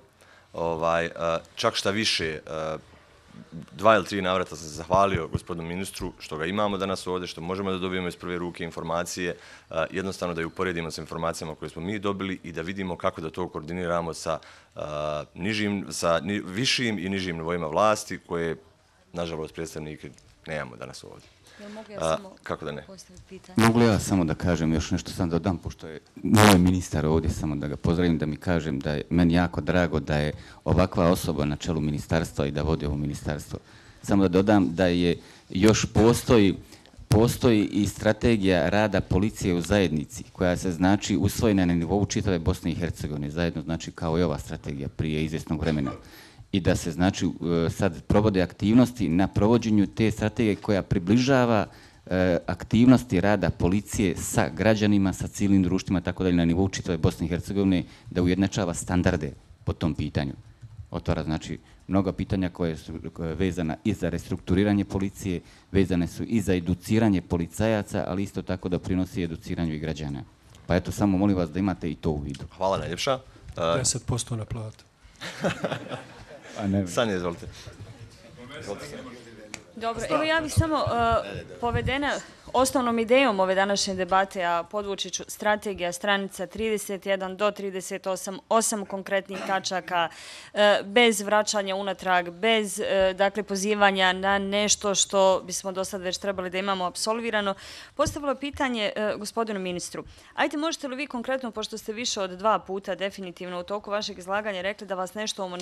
Čak šta više, dva ili tri navrata sam se zahvalio gospodinu ministru što ga imamo danas ovdje, što možemo da dobijemo iz prve ruke informacije, jednostavno da ju uporedimo sa informacijama koje smo mi dobili i da vidimo kako da to koordiniramo sa višim i nižim nivoima vlasti koje, nažalost, predstavnike nemamo danas ovdje. Kako da ne? Mogu li ja samo da kažem još nešto, sam dodam, pošto je moj ministar ovdje, samo da ga pozdravim, da mi kažem da je meni jako drago da je ovakva osoba na čelu ministarstva i da vodi ovo ministarstvo. Samo da dodam da je još postoji postoji i strategija rada policije u zajednici, koja se znači usvojena na nivou čitave Bosne i Hercegovine, zajedno znači kao i ova strategija prije izvjesnog vremena. I da se znači sad provode aktivnosti na provođenju te strategije koja približava aktivnosti rada policije sa građanima, sa civilnim društvima, tako dalje na nivou čitave Bosne i Hercegovine, da ujednačava standarde po tom pitanju. Otvara znači mnoga pitanja koje su vezana i za restrukturiranje policije, vezane su i za educiranje policajaca, ali isto tako da prinosi educiranju i građana. Pa eto, samo molim vas da imate i to u vidu. Hvala najljepša. deset posto na platu. Sanja, izvolite. Dobro, evo ja bih samo povedena osnovnom idejom ove današnje debate, a podvući ću strategija stranica trideset jedan do trideset osam, osam konkretnih tačaka, bez vraćanja unatrag, bez dakle pozivanja na nešto što bismo do sad već trebali da imamo apsolvirano. Postavilo pitanje gospodinu ministru. Ajde, možete li vi konkretno, pošto ste više od dva puta definitivno u toku vašeg izlaganja rekli da vas nešto,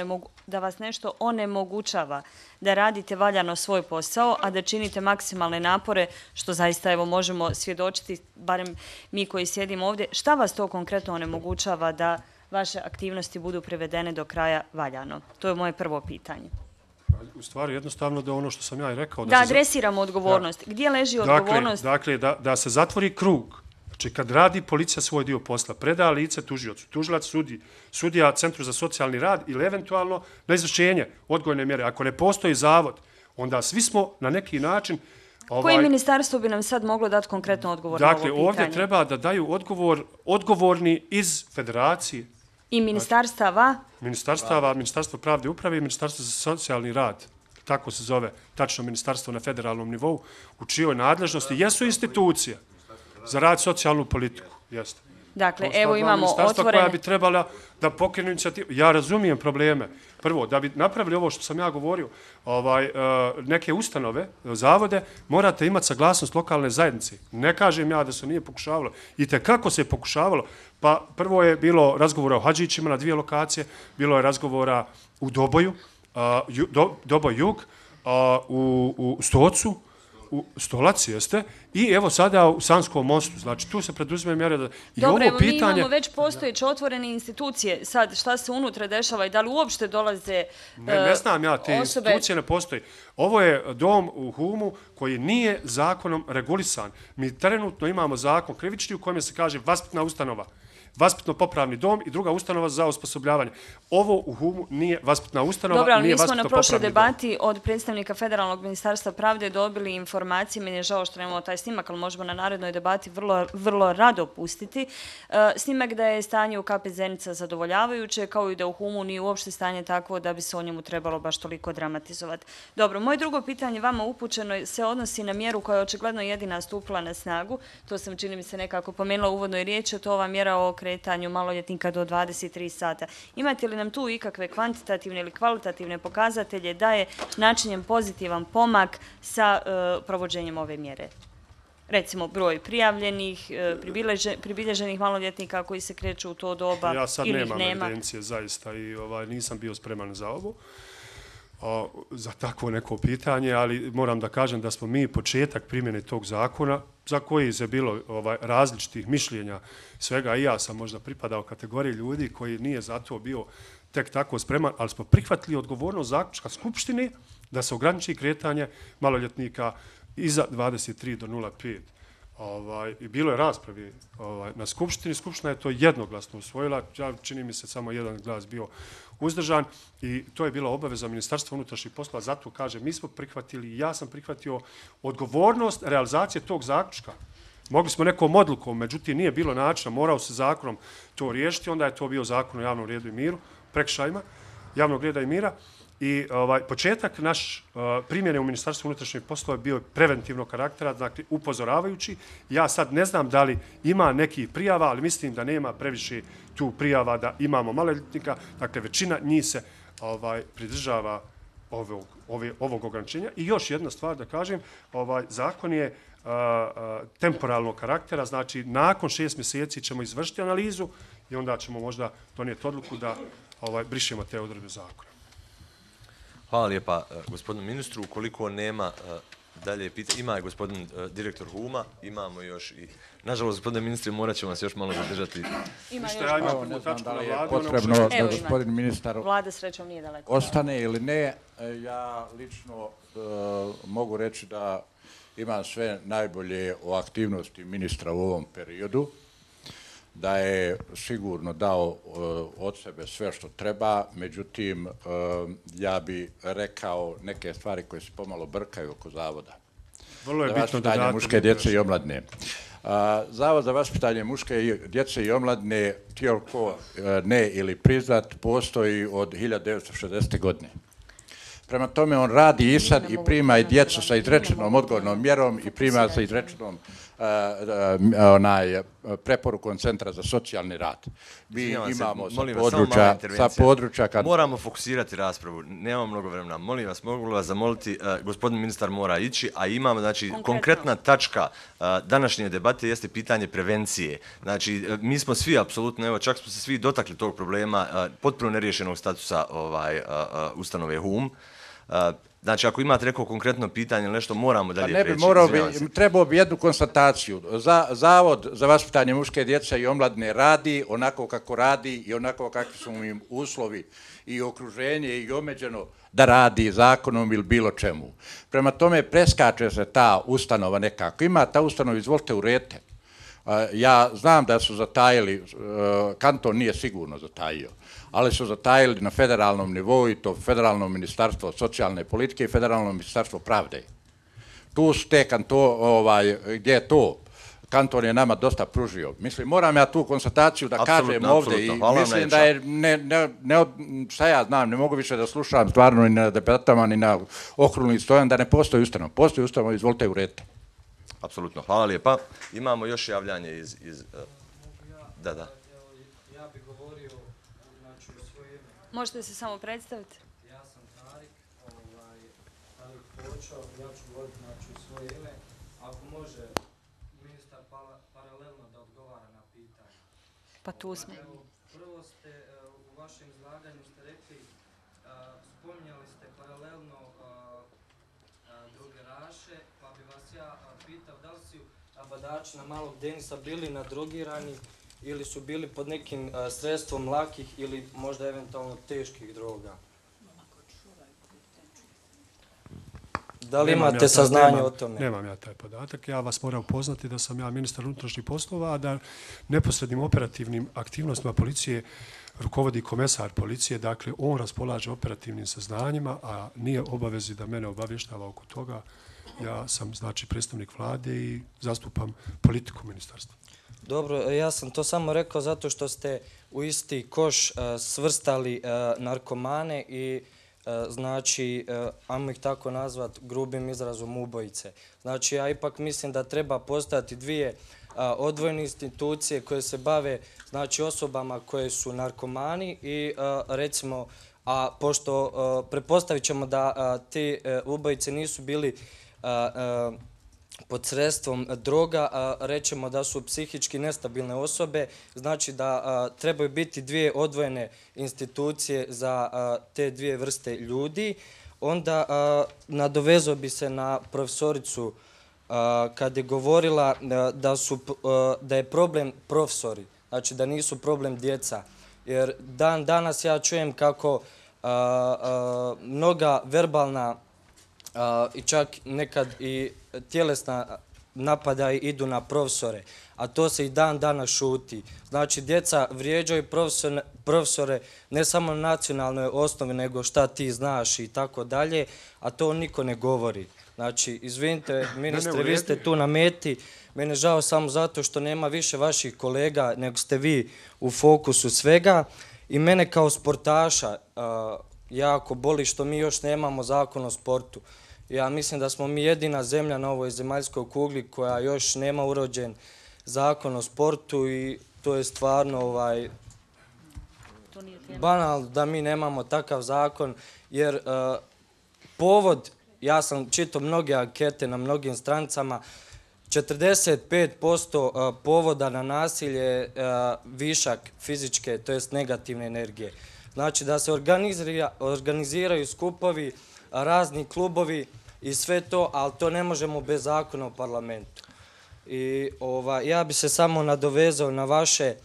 da vas nešto onemogućava da radite valjano svoj posao, a da činite maksimalne napore, što zaista evo možemo svjedočiti, barem mi koji sjedimo ovdje, šta vas to konkretno onemogućava da vaše aktivnosti budu privedene do kraja valjano? To je moje prvo pitanje. U stvari jednostavno da ono što sam ja i rekao... Da adresiramo odgovornost. Gdje leži odgovornost? Dakle, da se zatvori krug. Znači, kad radi policija svoj dio posla, preda lice tužiocu, tužilac sudi, sudija Centru za socijalni rad ili eventualno na izvršenje odgojne mjere. Ako ne postoji zavod, onda svi smo na neki način... Koje ministarstvo bi nam sad moglo dati konkretno odgovor na ovo pitanje? Dakle, ovdje treba da daju odgovor odgovorni iz federacije. I ministarstava? Ministarstava, Ministarstvo pravde i uprave i Ministarstvo za socijalni rad. Tako se zove tačno ministarstvo na federalnom nivou, u čijoj nadležnosti jesu institucije za rad socijalnu politiku. Jeste. Dakle, evo imamo otvorene... koja bi trebala da pokrenu inicijativu. Ja razumijem probleme. Prvo, da bi napravili ovo što sam ja govorio, neke ustanove, zavode, morate imati saglasnost lokalne zajednice. Ne kažem ja da se nije pokušavalo. I te kako se je pokušavalo? Pa prvo je bilo razgovora o Hadžićima na dvije lokacije, bilo je razgovora u Doboju, Doboj jug, u Stocu, u Stolaci, jeste, i evo sada u Sanskom mostu. Znači, tu se preduzme mjere da... Dobro, evo mi imamo već postojeće otvorene institucije. Sad, šta se unutra dešava i da li uopšte dolaze osobe... Ne znam ja, te institucije ne postoji. Ovo je dom u Humu koji nije zakonom regulisan. Mi trenutno imamo zakon krivični u kojem se kaže vaspitna ustanova, vaspitno-popravni dom i druga ustanova za osposobljavanje. Ovo u Humu nije vaspitna ustanova, Dobro, ali nije mi smo na prošloj debati dom. Od predstavnika Federalnog ministarstva pravde dobili informacije, meni je žao što nemamo taj snimak, ali možemo na narednoj debati vrlo, vrlo rado pustiti. Snimak da je stanje u K P Zenica zadovoljavajuće, kao i da u Humu nije uopšte stanje takvo da bi se o njemu trebalo baš toliko dramatizovati. Dobro, moje drugo pitanje vama upućeno se odnosi na mjeru koja je očigledno jedina stupila na snagu. To sam, čini mi se, nekako pomenula u uvodnoj riječi, to ova mjera o kretanju maloljetnika do dvadeset tri sata. Imate li nam tu ikakve kvantitativne ili kvalitativne pokazatelje da je načinjen pozitivan pomak sa provođenjem ove mjere? Recimo, broj prijavljenih, pribilježenih maloljetnika koji se kreću u to doba ili ih nema? Ja sad nemam evidencije, zaista, i nisam bio spreman za ovo, za takvo neko pitanje, ali moram da kažem da smo mi početak primjene tog zakona, za koji je bilo različitih mišljenja svega, i ja sam možda pripadao kategoriji ljudi koji nije za to bio tek tako spreman, ali smo prihvatili odgovornost zaključka Skupštine da se ograniči kretanje maloljetnika iza dvadeset tri do nula pet Ovaj, i bilo je raspravi ovaj, na Skupštini. Skupština je to jednoglasno usvojila. Ja, čini mi se samo jedan glas bio uzdržan i to je bila obaveza Ministarstva unutrašnjih poslova. Zato kažem, mi smo prihvatili, ja sam prihvatio odgovornost realizacije tog zaključka. Mogli smo nekom odlukom, međutim nije bilo načina, morao se zakonom to riješiti, onda je to bio zakon o javnom redu i miru, prekršajima javnog reda i mira. I ovaj, početak naš uh, primjene u Ministarstvu unutrašnjih poslova bio je preventivnog karaktera, dakle upozoravajući. Ja sad ne znam da li ima nekih prijava, ali mislim da nema previše tu prijava da imamo maloljetnika. Dakle, većina njih se ovaj, pridržava ovog, ove, ovog ograničenja. I još jedna stvar da kažem, ovaj, zakon je uh, uh, temporalnog karaktera, znači nakon šest mjeseci ćemo izvršiti analizu i onda ćemo možda donijeti odluku da ovaj, brišemo te odredbe zakona. Hvala lijepa gospodinu ministru. Ukoliko nema dalje pitanja, ima je gospodin direktor Huma, imamo još i... Nažalost, gospodine ministre, morat ćemo vas još malo zadržati. Ima još. Evo, ne znam da li je potrebno da gospodin ministar Vlada srećom nije daleko. Ostane ili ne. Ja lično mogu reći da imam sve najbolje o aktivnosti ministra u ovom periodu, da je sigurno dao uh, od sebe sve što treba, međutim, uh, ja bi rekao neke stvari koje se pomalo brkaju oko zavoda. Vrlo je bitno da date muške djece i omladne. Uh, Zavod za vaspitanje muške djece i omladne, tijelko uh, ne ili priznat, postoji od hiljadu devetsto šezdesete. godine. Prema tome on radi i sad i prima i djecu sa izrečenom odgovornom mjerom i prima sa izrečenom uh, uh, onaj, preporukom Centra za socijalni rad. Mi imamo se, sa vas, područja... Sa područja kad... Moramo fokusirati raspravu, nemamo mnogo vremena. Molim vas, mogu vas zamoliti, uh, gospodin ministar mora ići, a imamo, znači, Konkretno. konkretna tačka uh, današnje debate jeste pitanje prevencije. Znači, uh, mi smo svi, apsolutno, evo, čak smo se svi dotakli tog problema, uh, potpuno neriješenog statusa ovaj, uh, uh, ustanove Hum. Uh, Znači, ako imate neko konkretno pitanje ili nešto, moramo dalje ne bi, preći. Morao bi, trebao bi jednu konstataciju. Za, Zavod za vaspitanje muške djece i omladne radi onako kako radi i onako kakvi su im uslovi i okruženje i omeđeno da radi zakonom ili bilo čemu. Prema tome, preskače se ta ustanova nekako. Ima ta ustanova, izvolite uredite. Ja znam da su zatajili, kanton nije sigurno zatajio, ali su zatajili na federalnom nivou i to federalno ministarstvo socijalne politike i federalno ministarstvo pravde. Tu su te kanto, ovaj, gdje je to? Kanton je nama dosta pružio. Mislim, moram ja tu konstataciju da absolutno, kažem ovdje i mislim da je, ne, ne, ne, šta ja znam, ne mogu više da slušam stvarno ni na debatama, ni na okruglim stojan, da ne postoji ustanov. Postoji ustanov, izvolite uredite. Apsolutno, hvala lijepa. Imamo još javljanje iz... iz uh, da, da. Ja bih govorio znači, o svoje ime. Možete se samo predstaviti? Ja sam Tarik, ovaj, Tarik Počao, ja ću govoriti znači, o svoje ime. Ako može ministar pala, paralelno da odgovara na pitanje. Pa tu smo. Evo, prvo ste uh, u vašem izlaganju ste rekli, uh, spominjali ste paralelno uh, uh, drogeraše, pa bi vas ja uh, pitao da li su abadači na Malog Denisa bili nadrogirani ili su bili pod nekim uh, sredstvom lakih ili možda eventualno teških droga. Da li imate ja saznanje nemam, o tome? Nemam ja taj podatak. Ja vas moram upoznati da sam ja ministar unutrašnjih poslova, a da neposrednim operativnim aktivnostima policije rukovodi komesar policije. Dakle, on raspolaže operativnim saznanjima, a nije obavezi da mene obavještava oko toga. Ja sam, znači, predstavnik vlade i zastupam politiku ministarstva. Dobro, ja sam to samo rekao zato što ste u isti koš uh, svrstali uh, narkomane i uh, znači, uh, ajmo ih tako nazvat grubim izrazom ubojice. Znači, ja ipak mislim da treba postati dvije uh, odvojene institucije koje se bave znači, osobama koje su narkomani i uh, recimo, a pošto uh, pretpostavit ćemo da uh, te uh, ubojice nisu bili uh, uh, pod sredstvom droga, a, rećemo da su psihički nestabilne osobe, znači da a, trebaju biti dvije odvojene institucije za a, te dvije vrste ljudi. Onda a, nadovezao bi se na profesoricu a, kad je govorila a, da, su, a, da je problem profesori, znači da nisu problem djeca. Jer dan danas ja čujem kako a, a, mnoga verbalna a, i čak nekad i tjelesna napadaje idu na profesore, a to se i dan dana šuti. Znači, djeca vrijeđaju profesore ne samo na nacionalnoj osnovi, nego šta ti znaš i tako dalje, a to niko ne govori. Znači, izvinite, ministre, vi ste tu na meti. Mene žao samo zato što nema više vaših kolega, nego ste vi u fokusu svega. I mene kao sportaša jako boli što mi još nemamo zakon o sportu. Ja mislim da smo mi jedina zemlja na ovoj zemaljskoj kugli koja još nema urođen zakon o sportu i to je stvarno banalno da mi nemamo takav zakon, jer povod, ja sam čitao mnoge ankete na mnogim stranicama, četrdeset pet posto povoda na nasilje je višak fizičke, to jest negativne energije. Znači da se organiziraju skupovi, razni klubovi i sve to, ali to ne možemo bez zakona o parlamentu. I ja bi se samo nadovezao na vaše,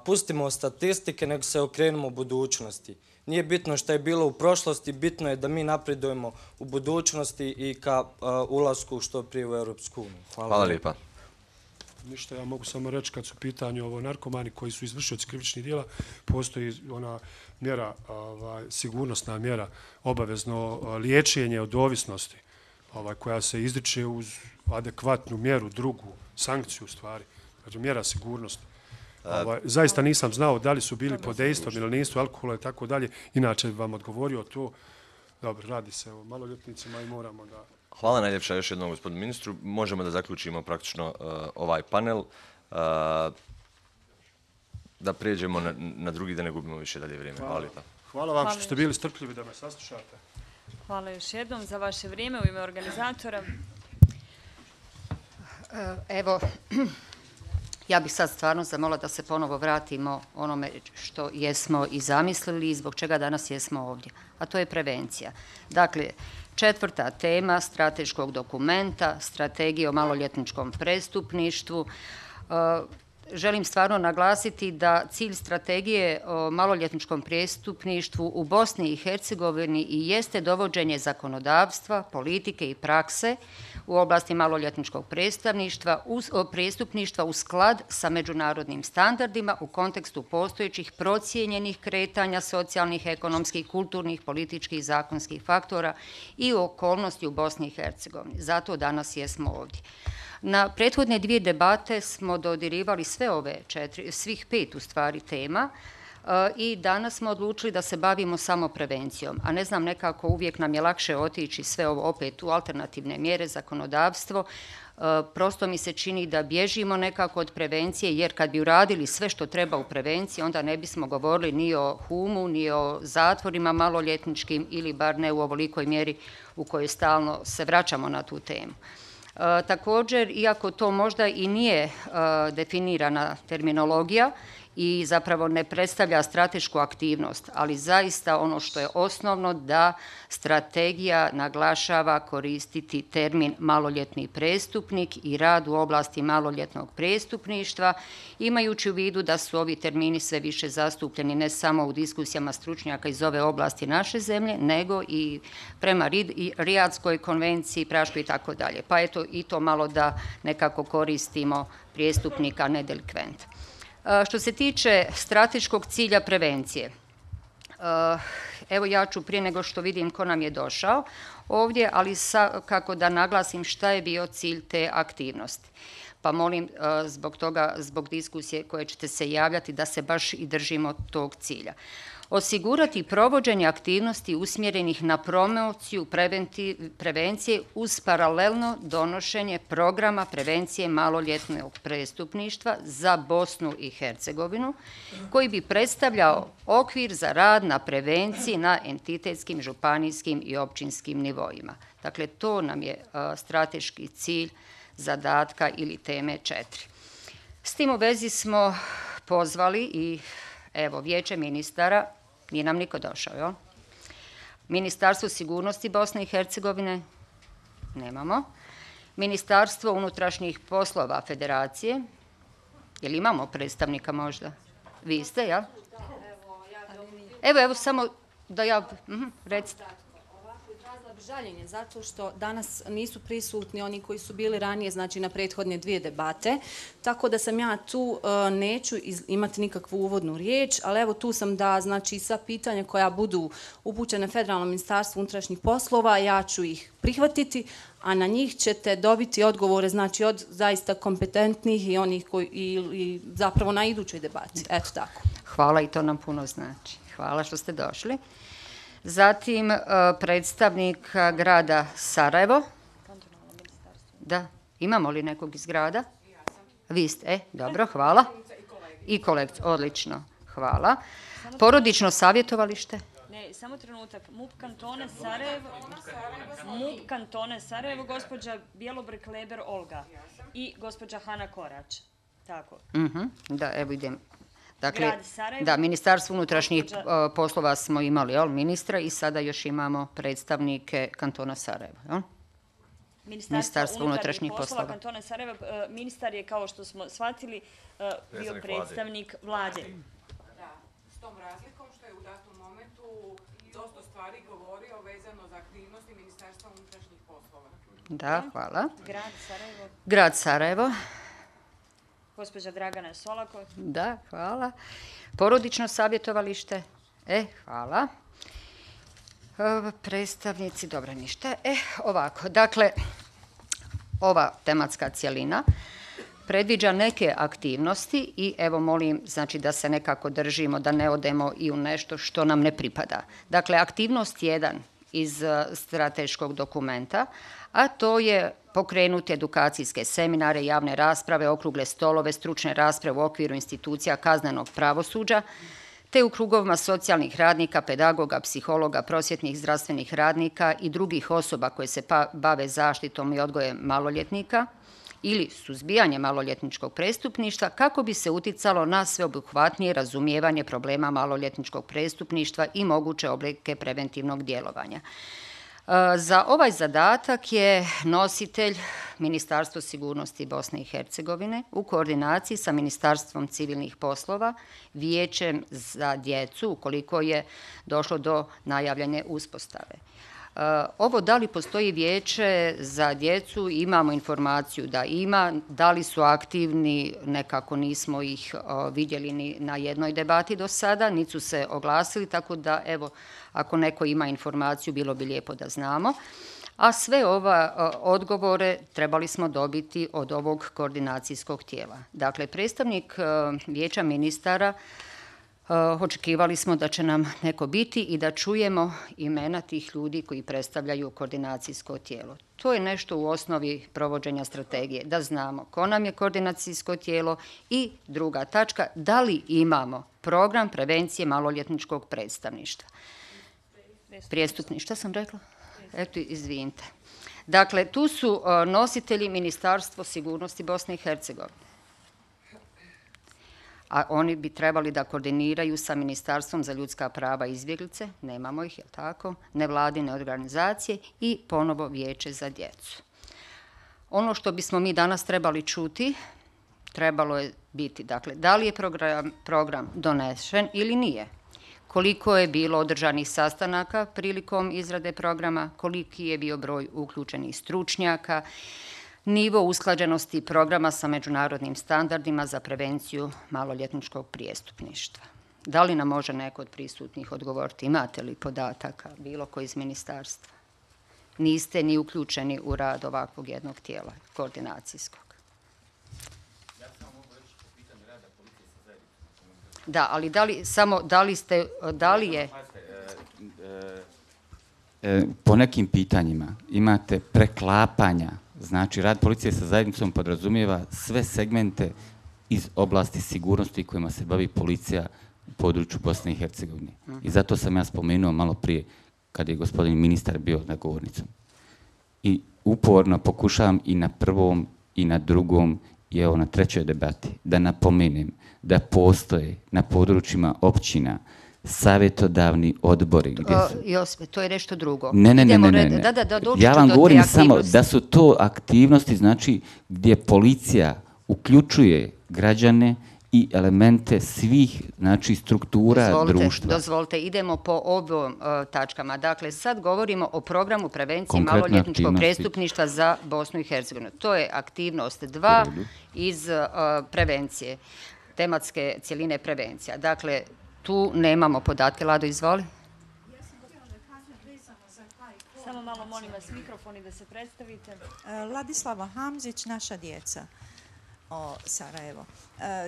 pustimo statistike, nego se okrenemo u budućnosti. Nije bitno što je bilo u prošlosti, bitno je da mi napredujemo u budućnosti i ka ulasku što prije u Europsku uniju. Hvala lijepa. Ništa, ja mogu samo reći kad su pitanju ovo narkomani koji su izvršioci krivičnih dijela, postoji ona mjera, sigurnosna mjera, obavezno liječenje od ovisnosti koja se izriče uz adekvatnu mjeru, drugu sankciju u stvari, znači mjera sigurnosti. Zaista nisam znao da li su bili pod dejstvom ili nisu alkohola i tako dalje, inače bi vam odgovorio to. Dobro, radi se o maloljetnicima i moramo da... Hvala najljepša još jednom gospodinu ministru. Možemo da zaključimo praktično ovaj panel, da prijeđemo na drugi, da ne gubimo više dalje vrijeme. Hvala lijepa. Hvala vam što ste bili strpljivi da me saslušate. Hvala još jednom za vaše vrijeme u ime organizatora. Evo, ja bih sad stvarno zamolila da se ponovo vratimo onome što jesmo i zamislili i zbog čega danas jesmo ovdje, a to je prevencija. Dakle, četvrta tema strateškog dokumenta, strategije o maloljetničkom prestupništvu. Želim stvarno naglasiti da cilj strategije o maloljetničkom prestupništvu u Bosni i Hercegovini i jeste dovođenje zakonodavstva, politike i prakse u oblasti maloljetničkog prestupništva u sklad sa međunarodnim standardima u kontekstu postojećih procijenjenih kretanja socijalnih, ekonomskih, kulturnih, političkih i zakonskih faktora i okolnosti u Bosni i Hercegovini. Zato danas jesmo ovdje. Na prethodne dvije debate smo dodirivali sve ove četiri, svih pet u stvari tema i danas smo odlučili da se bavimo samo prevencijom, a ne znam, nekako uvijek nam je lakše otići sve ovo opet u alternativne mjere, zakonodavstvo. Prosto mi se čini da bježimo nekako od prevencije, jer kad bi uradili sve što treba u prevenciji, onda ne bismo govorili ni o humu, ni o zatvorima maloljetničkim ili bar ne u ovolikoj mjeri u kojoj stalno se vraćamo na tu temu. Također, iako to možda i nije definirana terminologija i zapravo ne predstavlja stratešku aktivnost, ali zaista ono što je osnovno da strategija naglašava koristiti termin maloljetni prestupnik i rad u oblasti maloljetnog prestupništva, imajući u vidu da su ovi termini sve više zastupljeni ne samo u diskusijama stručnjaka iz ove oblasti naše zemlje, nego i prema Rijadskoj konvenciji, Praškoj i tako dalje. Pa eto i to malo da nekako koristimo prijestupnika, ne delikventa. Što se tiče strateškog cilja prevencije, evo ja ću prije nego što vidim ko nam je došao ovdje, ali kako da naglasim šta je bio cilj te aktivnosti. Pa molim zbog toga, zbog diskusije koje ćete se javljati, da se baš i držimo tog cilja. Osigurati provođenje aktivnosti usmjerenih na promociju prevencije uz paralelno donošenje programa prevencije maloljetnog prestupništva za Bosnu i Hercegovinu, koji bi predstavljao okvir za rad na prevenciji na entitetskim, županijskim i općinskim nivoima. Dakle, to nam je strateški cilj zadatka ili teme četiri. S tim u vezi smo pozvali i evo, Vijeće ministara, nije nam niko došao, jel? Ministarstvo sigurnosti Bosne i Hercegovine, nemamo. Ministarstvo unutrašnjih poslova Federacije, jel imamo predstavnika možda? Vi ste, jel? Evo, evo, samo da ja, recite. Žaljenje zato što danas nisu prisutni oni koji su bili ranije, znači na prethodne dvije debate, tako da sam ja tu, neću imati nikakvu uvodnu riječ, ali evo tu sam da, znači, sva pitanja koja budu upućene Federalnom ministarstvu unutrašnjih poslova, ja ću ih prihvatiti, a na njih ćete dobiti odgovore, znači, od zaista kompetentnih i onih koji, i, i zapravo na idućoj debati. Eto tako. Hvala i to nam puno znači. Hvala što ste došli. Zatim predstavnik grada Sarajevo. Da, imamo li nekog iz grada? Vi ste, e, dobro, hvala. I kolekcija, odlično, hvala. Porodično savjetovalište? Ne, samo trenutak. M U P kantone Sarajevo, M U P kantone Sarajevo, gospođa Bjelobrk Leber Olga i gospođa Hana Korač. Tako. Da, evo idem. Dakle, da, Ministarstvo unutrašnjih poslova smo imali, jel, ministra i sada još imamo predstavnike kantona Sarajevo, jel? Ministarstvo unutrašnjih poslova kantona Sarajevo, ministar je, kao što smo shvatili, bio predstavnik vlade. Da, s tom razlikom što je u datom momentu dosta stvari govorio vezano za aktivnosti Ministarstva unutrašnjih poslova. Da, hvala. Grad Sarajevo. Grad Sarajevo. Gospođa Dragana Solako. Da, hvala. Porodično savjetovalište. E, hvala. E, predstavnici, dobro, ništa. E, ovako, dakle, ova tematska cijelina predviđa neke aktivnosti i evo molim, znači, da se nekako držimo, da ne odemo i u nešto što nam ne pripada. Dakle, aktivnost jedan iz strateškog dokumenta, a to je pokrenuti edukacijske seminare, javne rasprave, okrugle stolove, stručne rasprave u okviru institucija kaznenog pravosuđa, te u krugovima socijalnih radnika, pedagoga, psihologa, prosvjetnih zdravstvenih radnika i drugih osoba koje se bave zaštitom i odgojem maloljetnika ili suzbijanje maloljetničkog prestupništva, kako bi se uticalo na sveobuhvatnije razumijevanje problema maloljetničkog prestupništva i moguće oblike preventivnog djelovanja. Za ovaj zadatak je nositelj Ministarstvo sigurnosti Bosne i Hercegovine u koordinaciji sa Ministarstvom civilnih poslova, Vijećem za djecu, ukoliko je došlo do najavljene uspostave. Ovo da li postoji vijeće za djecu, imamo informaciju da ima, da li su aktivni, nekako nismo ih vidjeli ni na jednoj debati do sada, niti su se oglasili, tako da evo, ako neko ima informaciju, bilo bi lijepo da znamo. A sve ove odgovore trebali smo dobiti od ovog koordinacijskog tijela. Dakle, predstavnik vijeća ministara, očekivali smo da će nam neko biti i da čujemo imena tih ljudi koji predstavljaju koordinacijsko tijelo. To je nešto u osnovi provođenja strategije, da znamo ko nam je koordinacijsko tijelo i druga tačka, da li imamo program prevencije maloljetničkog predstavništva. Prijestupni, šta sam rekla? Eto, izvinite. Dakle, tu su nositelji Ministarstvo sigurnosti Bosne i Hercegovine. A oni bi trebali da koordiniraju sa Ministarstvom za ljudska prava i izbjeglice, nemamo ih, je li tako, nevladine organizacije i ponovo Vijeće za djecu. Ono što bismo mi danas trebali čuti, trebalo je biti, dakle, da li je program, program donesen ili nije, koliko je bilo održanih sastanaka prilikom izrade programa, koliki je bio broj uključenih stručnjaka, nivo usklađenosti programa sa međunarodnim standardima za prevenciju maloljetničkog prijestupništva. Da li nam može neko od prisutnih odgovoriti? Imate li podataka, bilo koji iz ministarstva? Niste ni uključeni u rad ovakvog jednog tijela, koordinacijskog. Ja samo mogu reći po pitanju rada policije sa zajednicom. Da, ali da li, samo, da li ste, da li je... Po nekim pitanjima imate preklapanja. Znači, rad policije sa zajednicom podrazumijeva sve segmente iz oblasti sigurnosti kojima se bavi policija u području Bosne i Hercegovine. I zato sam ja spomenuo malo prije, kad je gospodin ministar bio na govornicom. I uporno pokušavam i na prvom i na drugom i evo na trećoj debati da napomenem da postoje na područjima općina savjetodavni odbori. Jospe, to je nešto drugo. Ne, ne, ne, ne, ne. Ja vam govorim samo da su to aktivnosti, znači, gdje policija uključuje građane i elemente svih, znači, struktura dozvolite, društva. Dozvolite, idemo po ovim uh, tačkama. Dakle, sad govorimo o programu prevencije Konkretne maloljetničkog aktivnosti. prestupništva za Bosnu i Hercegovinu. To je aktivnost dva iz uh, prevencije, tematske cjeline prevencija. Dakle, tu nemamo podatke. Lado, izvoli. Samo malo molim vas mikrofoni da se predstavite. Ladislava Hamzić, Naša djeca o Sarajevo.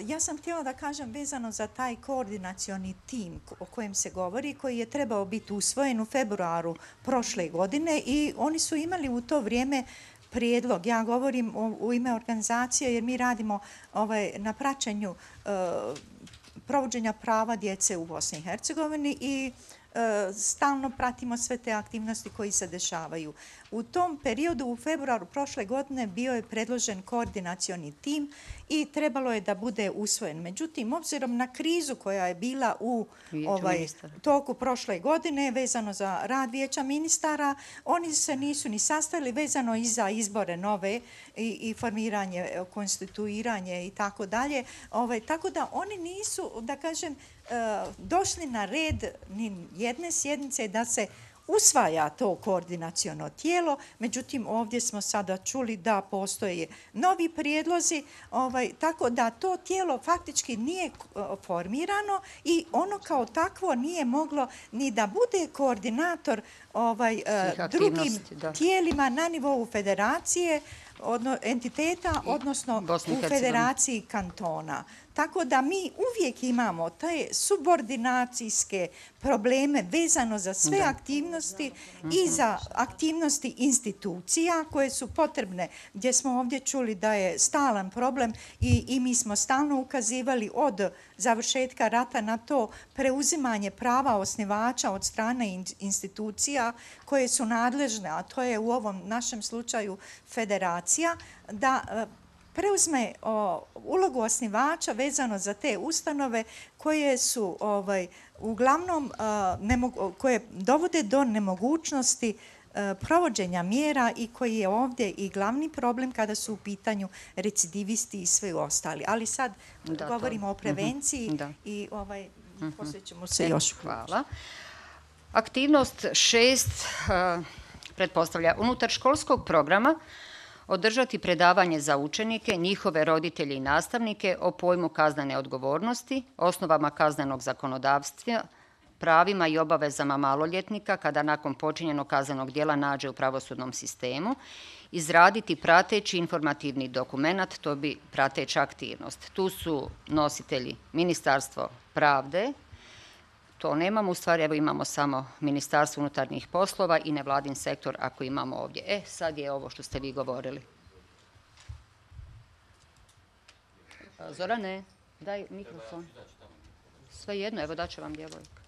Ja sam htjela da kažem vezano za taj koordinacioni tim o kojem se govori, koji je trebao biti usvojen u februaru prošle godine i oni su imali u to vrijeme prijedlog. Ja govorim u ime organizacije jer mi radimo ovaj, na praćenju uh, provođenja prava djece u Bosni i Hercegovini i stalno pratimo sve te aktivnosti koji se dešavaju. U tom periodu, u februaru prošle godine, bio je predložen koordinacioni tim i trebalo je da bude usvojen. Međutim, obzirom na krizu koja je bila u ovaj, toku prošle godine, vezano za rad vijeća ministara, oni se nisu ni sastali vezano i za izbore nove i, i formiranje, konstituiranje i tako dalje. Ovaj, tako da oni nisu, da kažem, došli na red ni jedne sjednice da se usvaja to koordinaciono tijelo, međutim ovdje smo sada čuli da postoje novi prijedlozi, ovaj, tako da to tijelo faktički nije formirano i ono kao takvo nije moglo ni da bude koordinator ovaj, drugim da. tijelima na nivou federacije, odno, entiteta, odnosno u federaciji kantona. Tako da mi uvijek imamo te subordinacijske probleme vezano za sve da. aktivnosti mm-hmm. i za aktivnosti institucija koje su potrebne, gdje smo ovdje čuli da je stalan problem i, i mi smo stalno ukazivali od završetka rata na to preuzimanje prava osnivača od strane institucija koje su nadležne, a to je u ovom našem slučaju federacija, da preuzme o, ulogu osnivača vezano za te ustanove koje su ovaj, uglavnom a, nemogu, koje dovode do nemogućnosti a, provođenja mjera i koji je ovdje i glavni problem kada su u pitanju recidivisti i sve ostali. Ali sad da, govorimo to. o prevenciji mm-hmm. i ovaj, mm-hmm. poslije ćemo se e, još... Hvala. Aktivnost šest uh, pretpostavlja unutar školskog programa održati predavanje za učenike, njihove roditelje i nastavnike o pojmu kaznene odgovornosti, osnovama kaznenog zakonodavstva, pravima i obavezama maloljetnika kada nakon počinjenog kaznenog djela nađe u pravosudnom sistemu, izraditi prateći informativni dokument, to bi prateća aktivnost. Tu su nositelji Ministarstvo pravde, to nemamo, u stvari evo imamo samo Ministarstvo unutarnjih poslova i nevladin sektor ako imamo ovdje. E, sad je ovo što ste vi govorili. Zorane, daj mikrofon. Sve jedno, evo daće vam djevojka.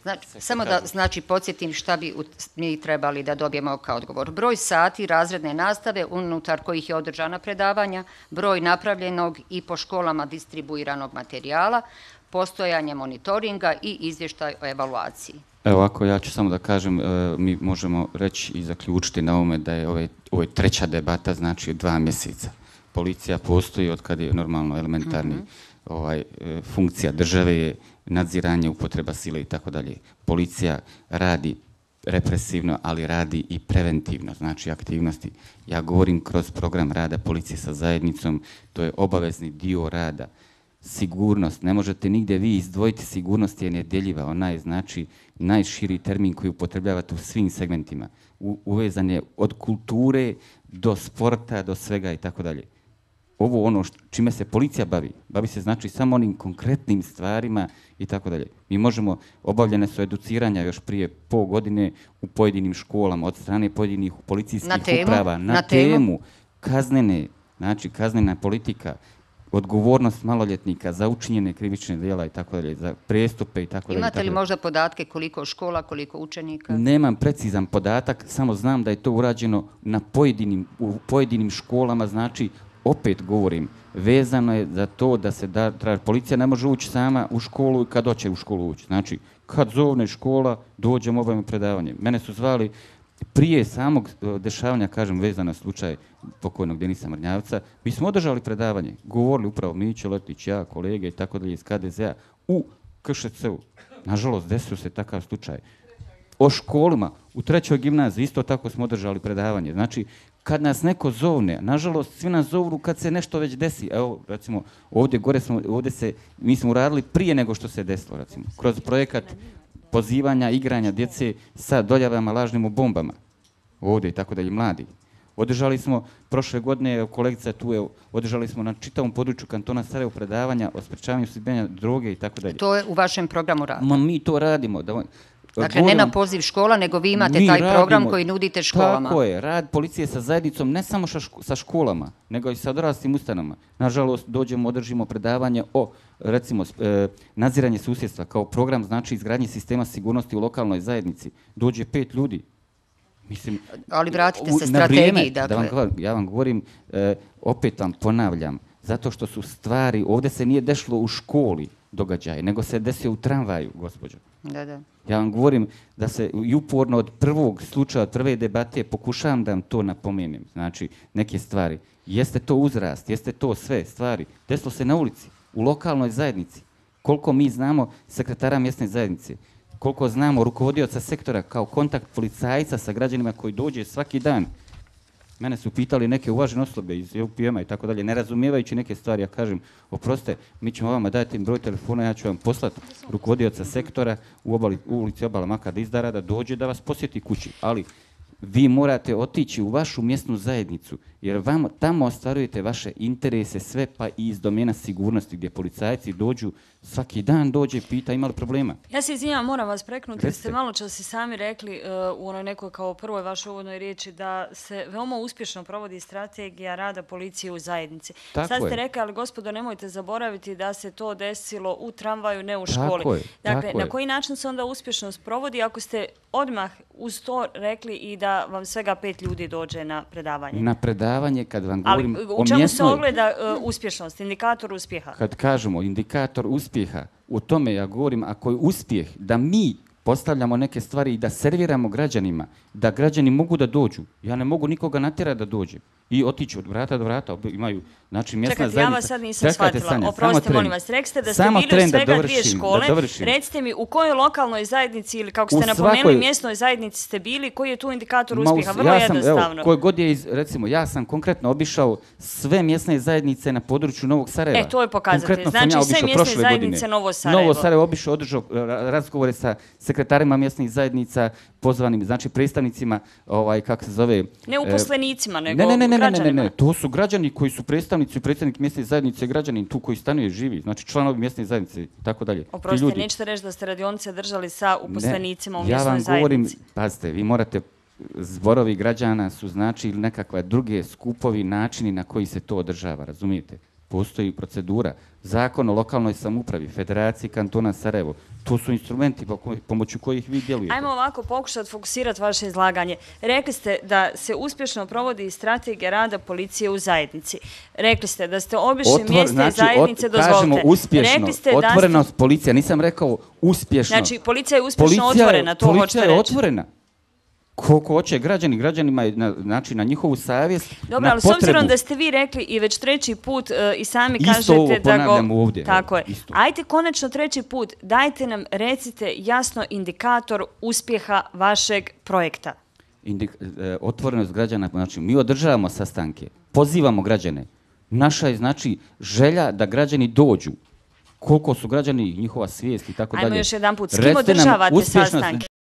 Znači, samo da znači, podsjetim šta bi mi trebali da dobijemo kao odgovor. Broj sati razredne nastave unutar kojih je održana predavanja, broj napravljenog i po školama distribuiranog materijala, postojanje monitoringa i izvještaj o evaluaciji. Evo ovako, ja ću samo da kažem, mi možemo reći i zaključiti na ovome da je ovo ovaj treća debata, znači dva mjeseca. Policija postoji od kada je normalno elementarni mm-hmm. ovaj, funkcija države je nadziranje, upotreba sile i tako dalje. Policija radi represivno, ali radi i preventivno, znači aktivnosti. Ja govorim kroz program rada policije sa zajednicom, to je obavezni dio rada. Sigurnost, ne možete nigdje vi izdvojiti, sigurnost je nedjeljiva, ona je znači najširi termin koji upotrebljavate u svim segmentima. U, uvezan je od kulture do sporta, do svega i tako dalje. Ovo ono što, čime se policija bavi, bavi se znači samo onim konkretnim stvarima i tako dalje. Mi možemo, obavljene su educiranja još prije pol godine u pojedinim školama od strane pojedinih policijskih na temu, uprava na, na temu, temu kaznene, znači kaznena politika, odgovornost maloljetnika za učinjene krivične djela i tako dalje, za prestupe i tako dalje. Imate li možda podatke koliko škola, koliko učenika? Nemam precizan podatak, samo znam da je to urađeno na pojedinim, u pojedinim školama, znači opet govorim, vezano je za to da se da, traži, policija ne može ući sama u školu kad hoće u školu ući. Znači, kad zovne škola, dođemo obavimo predavanje. Mene su zvali prije samog dešavanja, kažem, vezano na slučaj pokojnog Denisa Mrnjavca, mi smo održali predavanje, govorili upravo Mićo Letić, ja, kolege i tako dalje iz K D Z-a u K Š C-u. Nažalost, desio se takav slučaj. O školama, u trećoj gimnaziji isto tako smo održali predavanje. Znači, kad nas neko zovne, nažalost, svi nas zovu kad se nešto već desi. Evo, recimo, ovdje gore smo, ovdje se, mi smo uradili prije nego što se desilo, recimo, kroz projekat pozivanja, igranja djece sa doljavama, lažnim u bombama. Ovdje i tako dalje, mladi. Održali smo, prošle godine, kolegica tu je, održali smo na čitavom području kantona Sarajevo predavanja o sprečavanju suzbijanja droge i tako dalje. To je u vašem programu rada? Ma mi to radimo. Da, dakle, ne na poziv škola, nego vi imate taj radimo, program koji nudite školama. Tako je, rad policije sa zajednicom, ne samo sa školama, nego i sa odraslim ustanovama. Nažalost, dođemo, održimo predavanje o, recimo, e, nadziranje susjedstva kao program, znači izgradnje sistema sigurnosti u lokalnoj zajednici. Dođe pet ljudi. Mislim, ali vratite se strategiji, vrijeme, dakle. Da vam, ja vam govorim, e, opet vam ponavljam, zato što su stvari, ovdje se nije dešlo u školi događaje, nego se desio u tramvaju, gospođo. Da, da. Ja vam govorim da se i uporno od prvog slučaja, od prve debate, pokušavam da vam to napomenem. Znači, neke stvari. Jeste to uzrast, jeste to sve stvari. Desilo se na ulici, u lokalnoj zajednici. Koliko mi znamo sekretara mjesne zajednice, koliko znamo rukovodioca sektora kao kontakt policajca sa građanima koji dođe svaki dan. Mene su pitali neke uvažene osobe iz E U P M-a i tako dalje, ne razumijevajući neke stvari. Ja kažem, oprostite, mi ćemo vama dati broj telefona, ja ću vam poslati rukovodioca sektora u, obali, u ulici Obala Maka Dizdara da dođe da vas posjeti kući. Ali vi morate otići u vašu mjesnu zajednicu, jer vam tamo ostvarujete vaše interese, sve pa i iz domena sigurnosti, gdje policajci dođu, svaki dan dođe i pita ima li problema. Ja se izvinjam, moram vas preknuti, jer ste malo čas i sami rekli uh, u onoj nekoj kao prvoj vašoj uvodnoj riječi da se veoma uspješno provodi strategija rada policije u zajednici. Tako Sad ste je. rekli, ali gospodo, nemojte zaboraviti da se to desilo u tramvaju, ne u školi. Tako je, dakle, tako na je. koji način se onda uspješno sprovodi ako ste odmah uz to rekli i da vam svega pet ljudi dođe na predavanje? Na predavanje, kad vam Ali govorim u o čemu mjesnoj... se ogleda uh, uspješnost, indikator uspjeha? Kad kažemo indikator uspjeha, o tome ja govorim, ako je uspjeh da mi postavljamo neke stvari i da serviramo građanima, da građani mogu da dođu. Ja ne mogu nikoga natjerati da dođe. I otići od vrata do vrata, imaju, znači, mjesna Čekajte, zajednica. ja vas sad nisam Čekajte, shvatila. Sanja, Oprostite, molim vas, rekli ste da ste samo bili u svega dovršim, dvije škole. Recite mi, u kojoj lokalnoj zajednici ili, kako ste napomenuli, svakoj... mjesnoj zajednici ste bili, koji je tu indikator Ma, uspjeha? Vrlo ja sam, jednostavno. Evo, koji god je, iz, recimo, ja sam konkretno obišao sve mjesne zajednice na području Novog Sarajeva. E, to je pokazatelj. Znači, ja sve mjesne zajednice Novo Sarajevo. Novo Sarajevo obišao, održao razgovore sa sekretarima mjesnih zajednica, pozvanim, znači, predstavnicima, ovaj, kako se zove... Ne uposlenicima, nego ne, ne, ne, ne, građanima. Ne, ne, ne, to su građani koji su predstavnici i predsjednik mjesne zajednice, građanin tu koji stanuje, živi, znači članovi mjesne zajednice i tako dalje. Oprostite, nećete reći da ste radionice držali sa uposlenicima u mjesnoj zajednici? Ja vam govorim, pazite, vi morate, zborovi građana su znači ili nekakve druge skupovi, načini na koji se to održava, razumijete? Postoji procedura, zakon o lokalnoj samoupravi, Federaciji kantona Sarajevo, to su instrumenti pomoću kojih vi djelujete. Ajmo ovako pokušati fokusirati vaše izlaganje. Rekli ste da se uspješno provodi strategija rada policije u zajednici. Rekli ste da ste obišli Otvor, mjeste znači, zajednice, od, dozvolite. Kažemo uspješno, otvorenost ste... policija, nisam rekao uspješno. Znači, policija je uspješno policija, otvorena, to hoćete reći. Policija je otvorena. Koliko hoće građani, građanima je na, znači, na njihovu savjest, Dobro, na ali potrebu. S obzirom da ste vi rekli i već treći put uh, i sami isto kažete ovo da go... ovdje. Tako je. Isto. Ajde konačno treći put, dajte nam, recite jasno indikator uspjeha vašeg projekta. Indik, e, otvorenost građana, znači mi održavamo sastanke, pozivamo građane. Naša je znači želja da građani dođu. Koliko su građani, njihova svijest i tako dalje. Ajmo još jedan put, s kim održavate sastanke?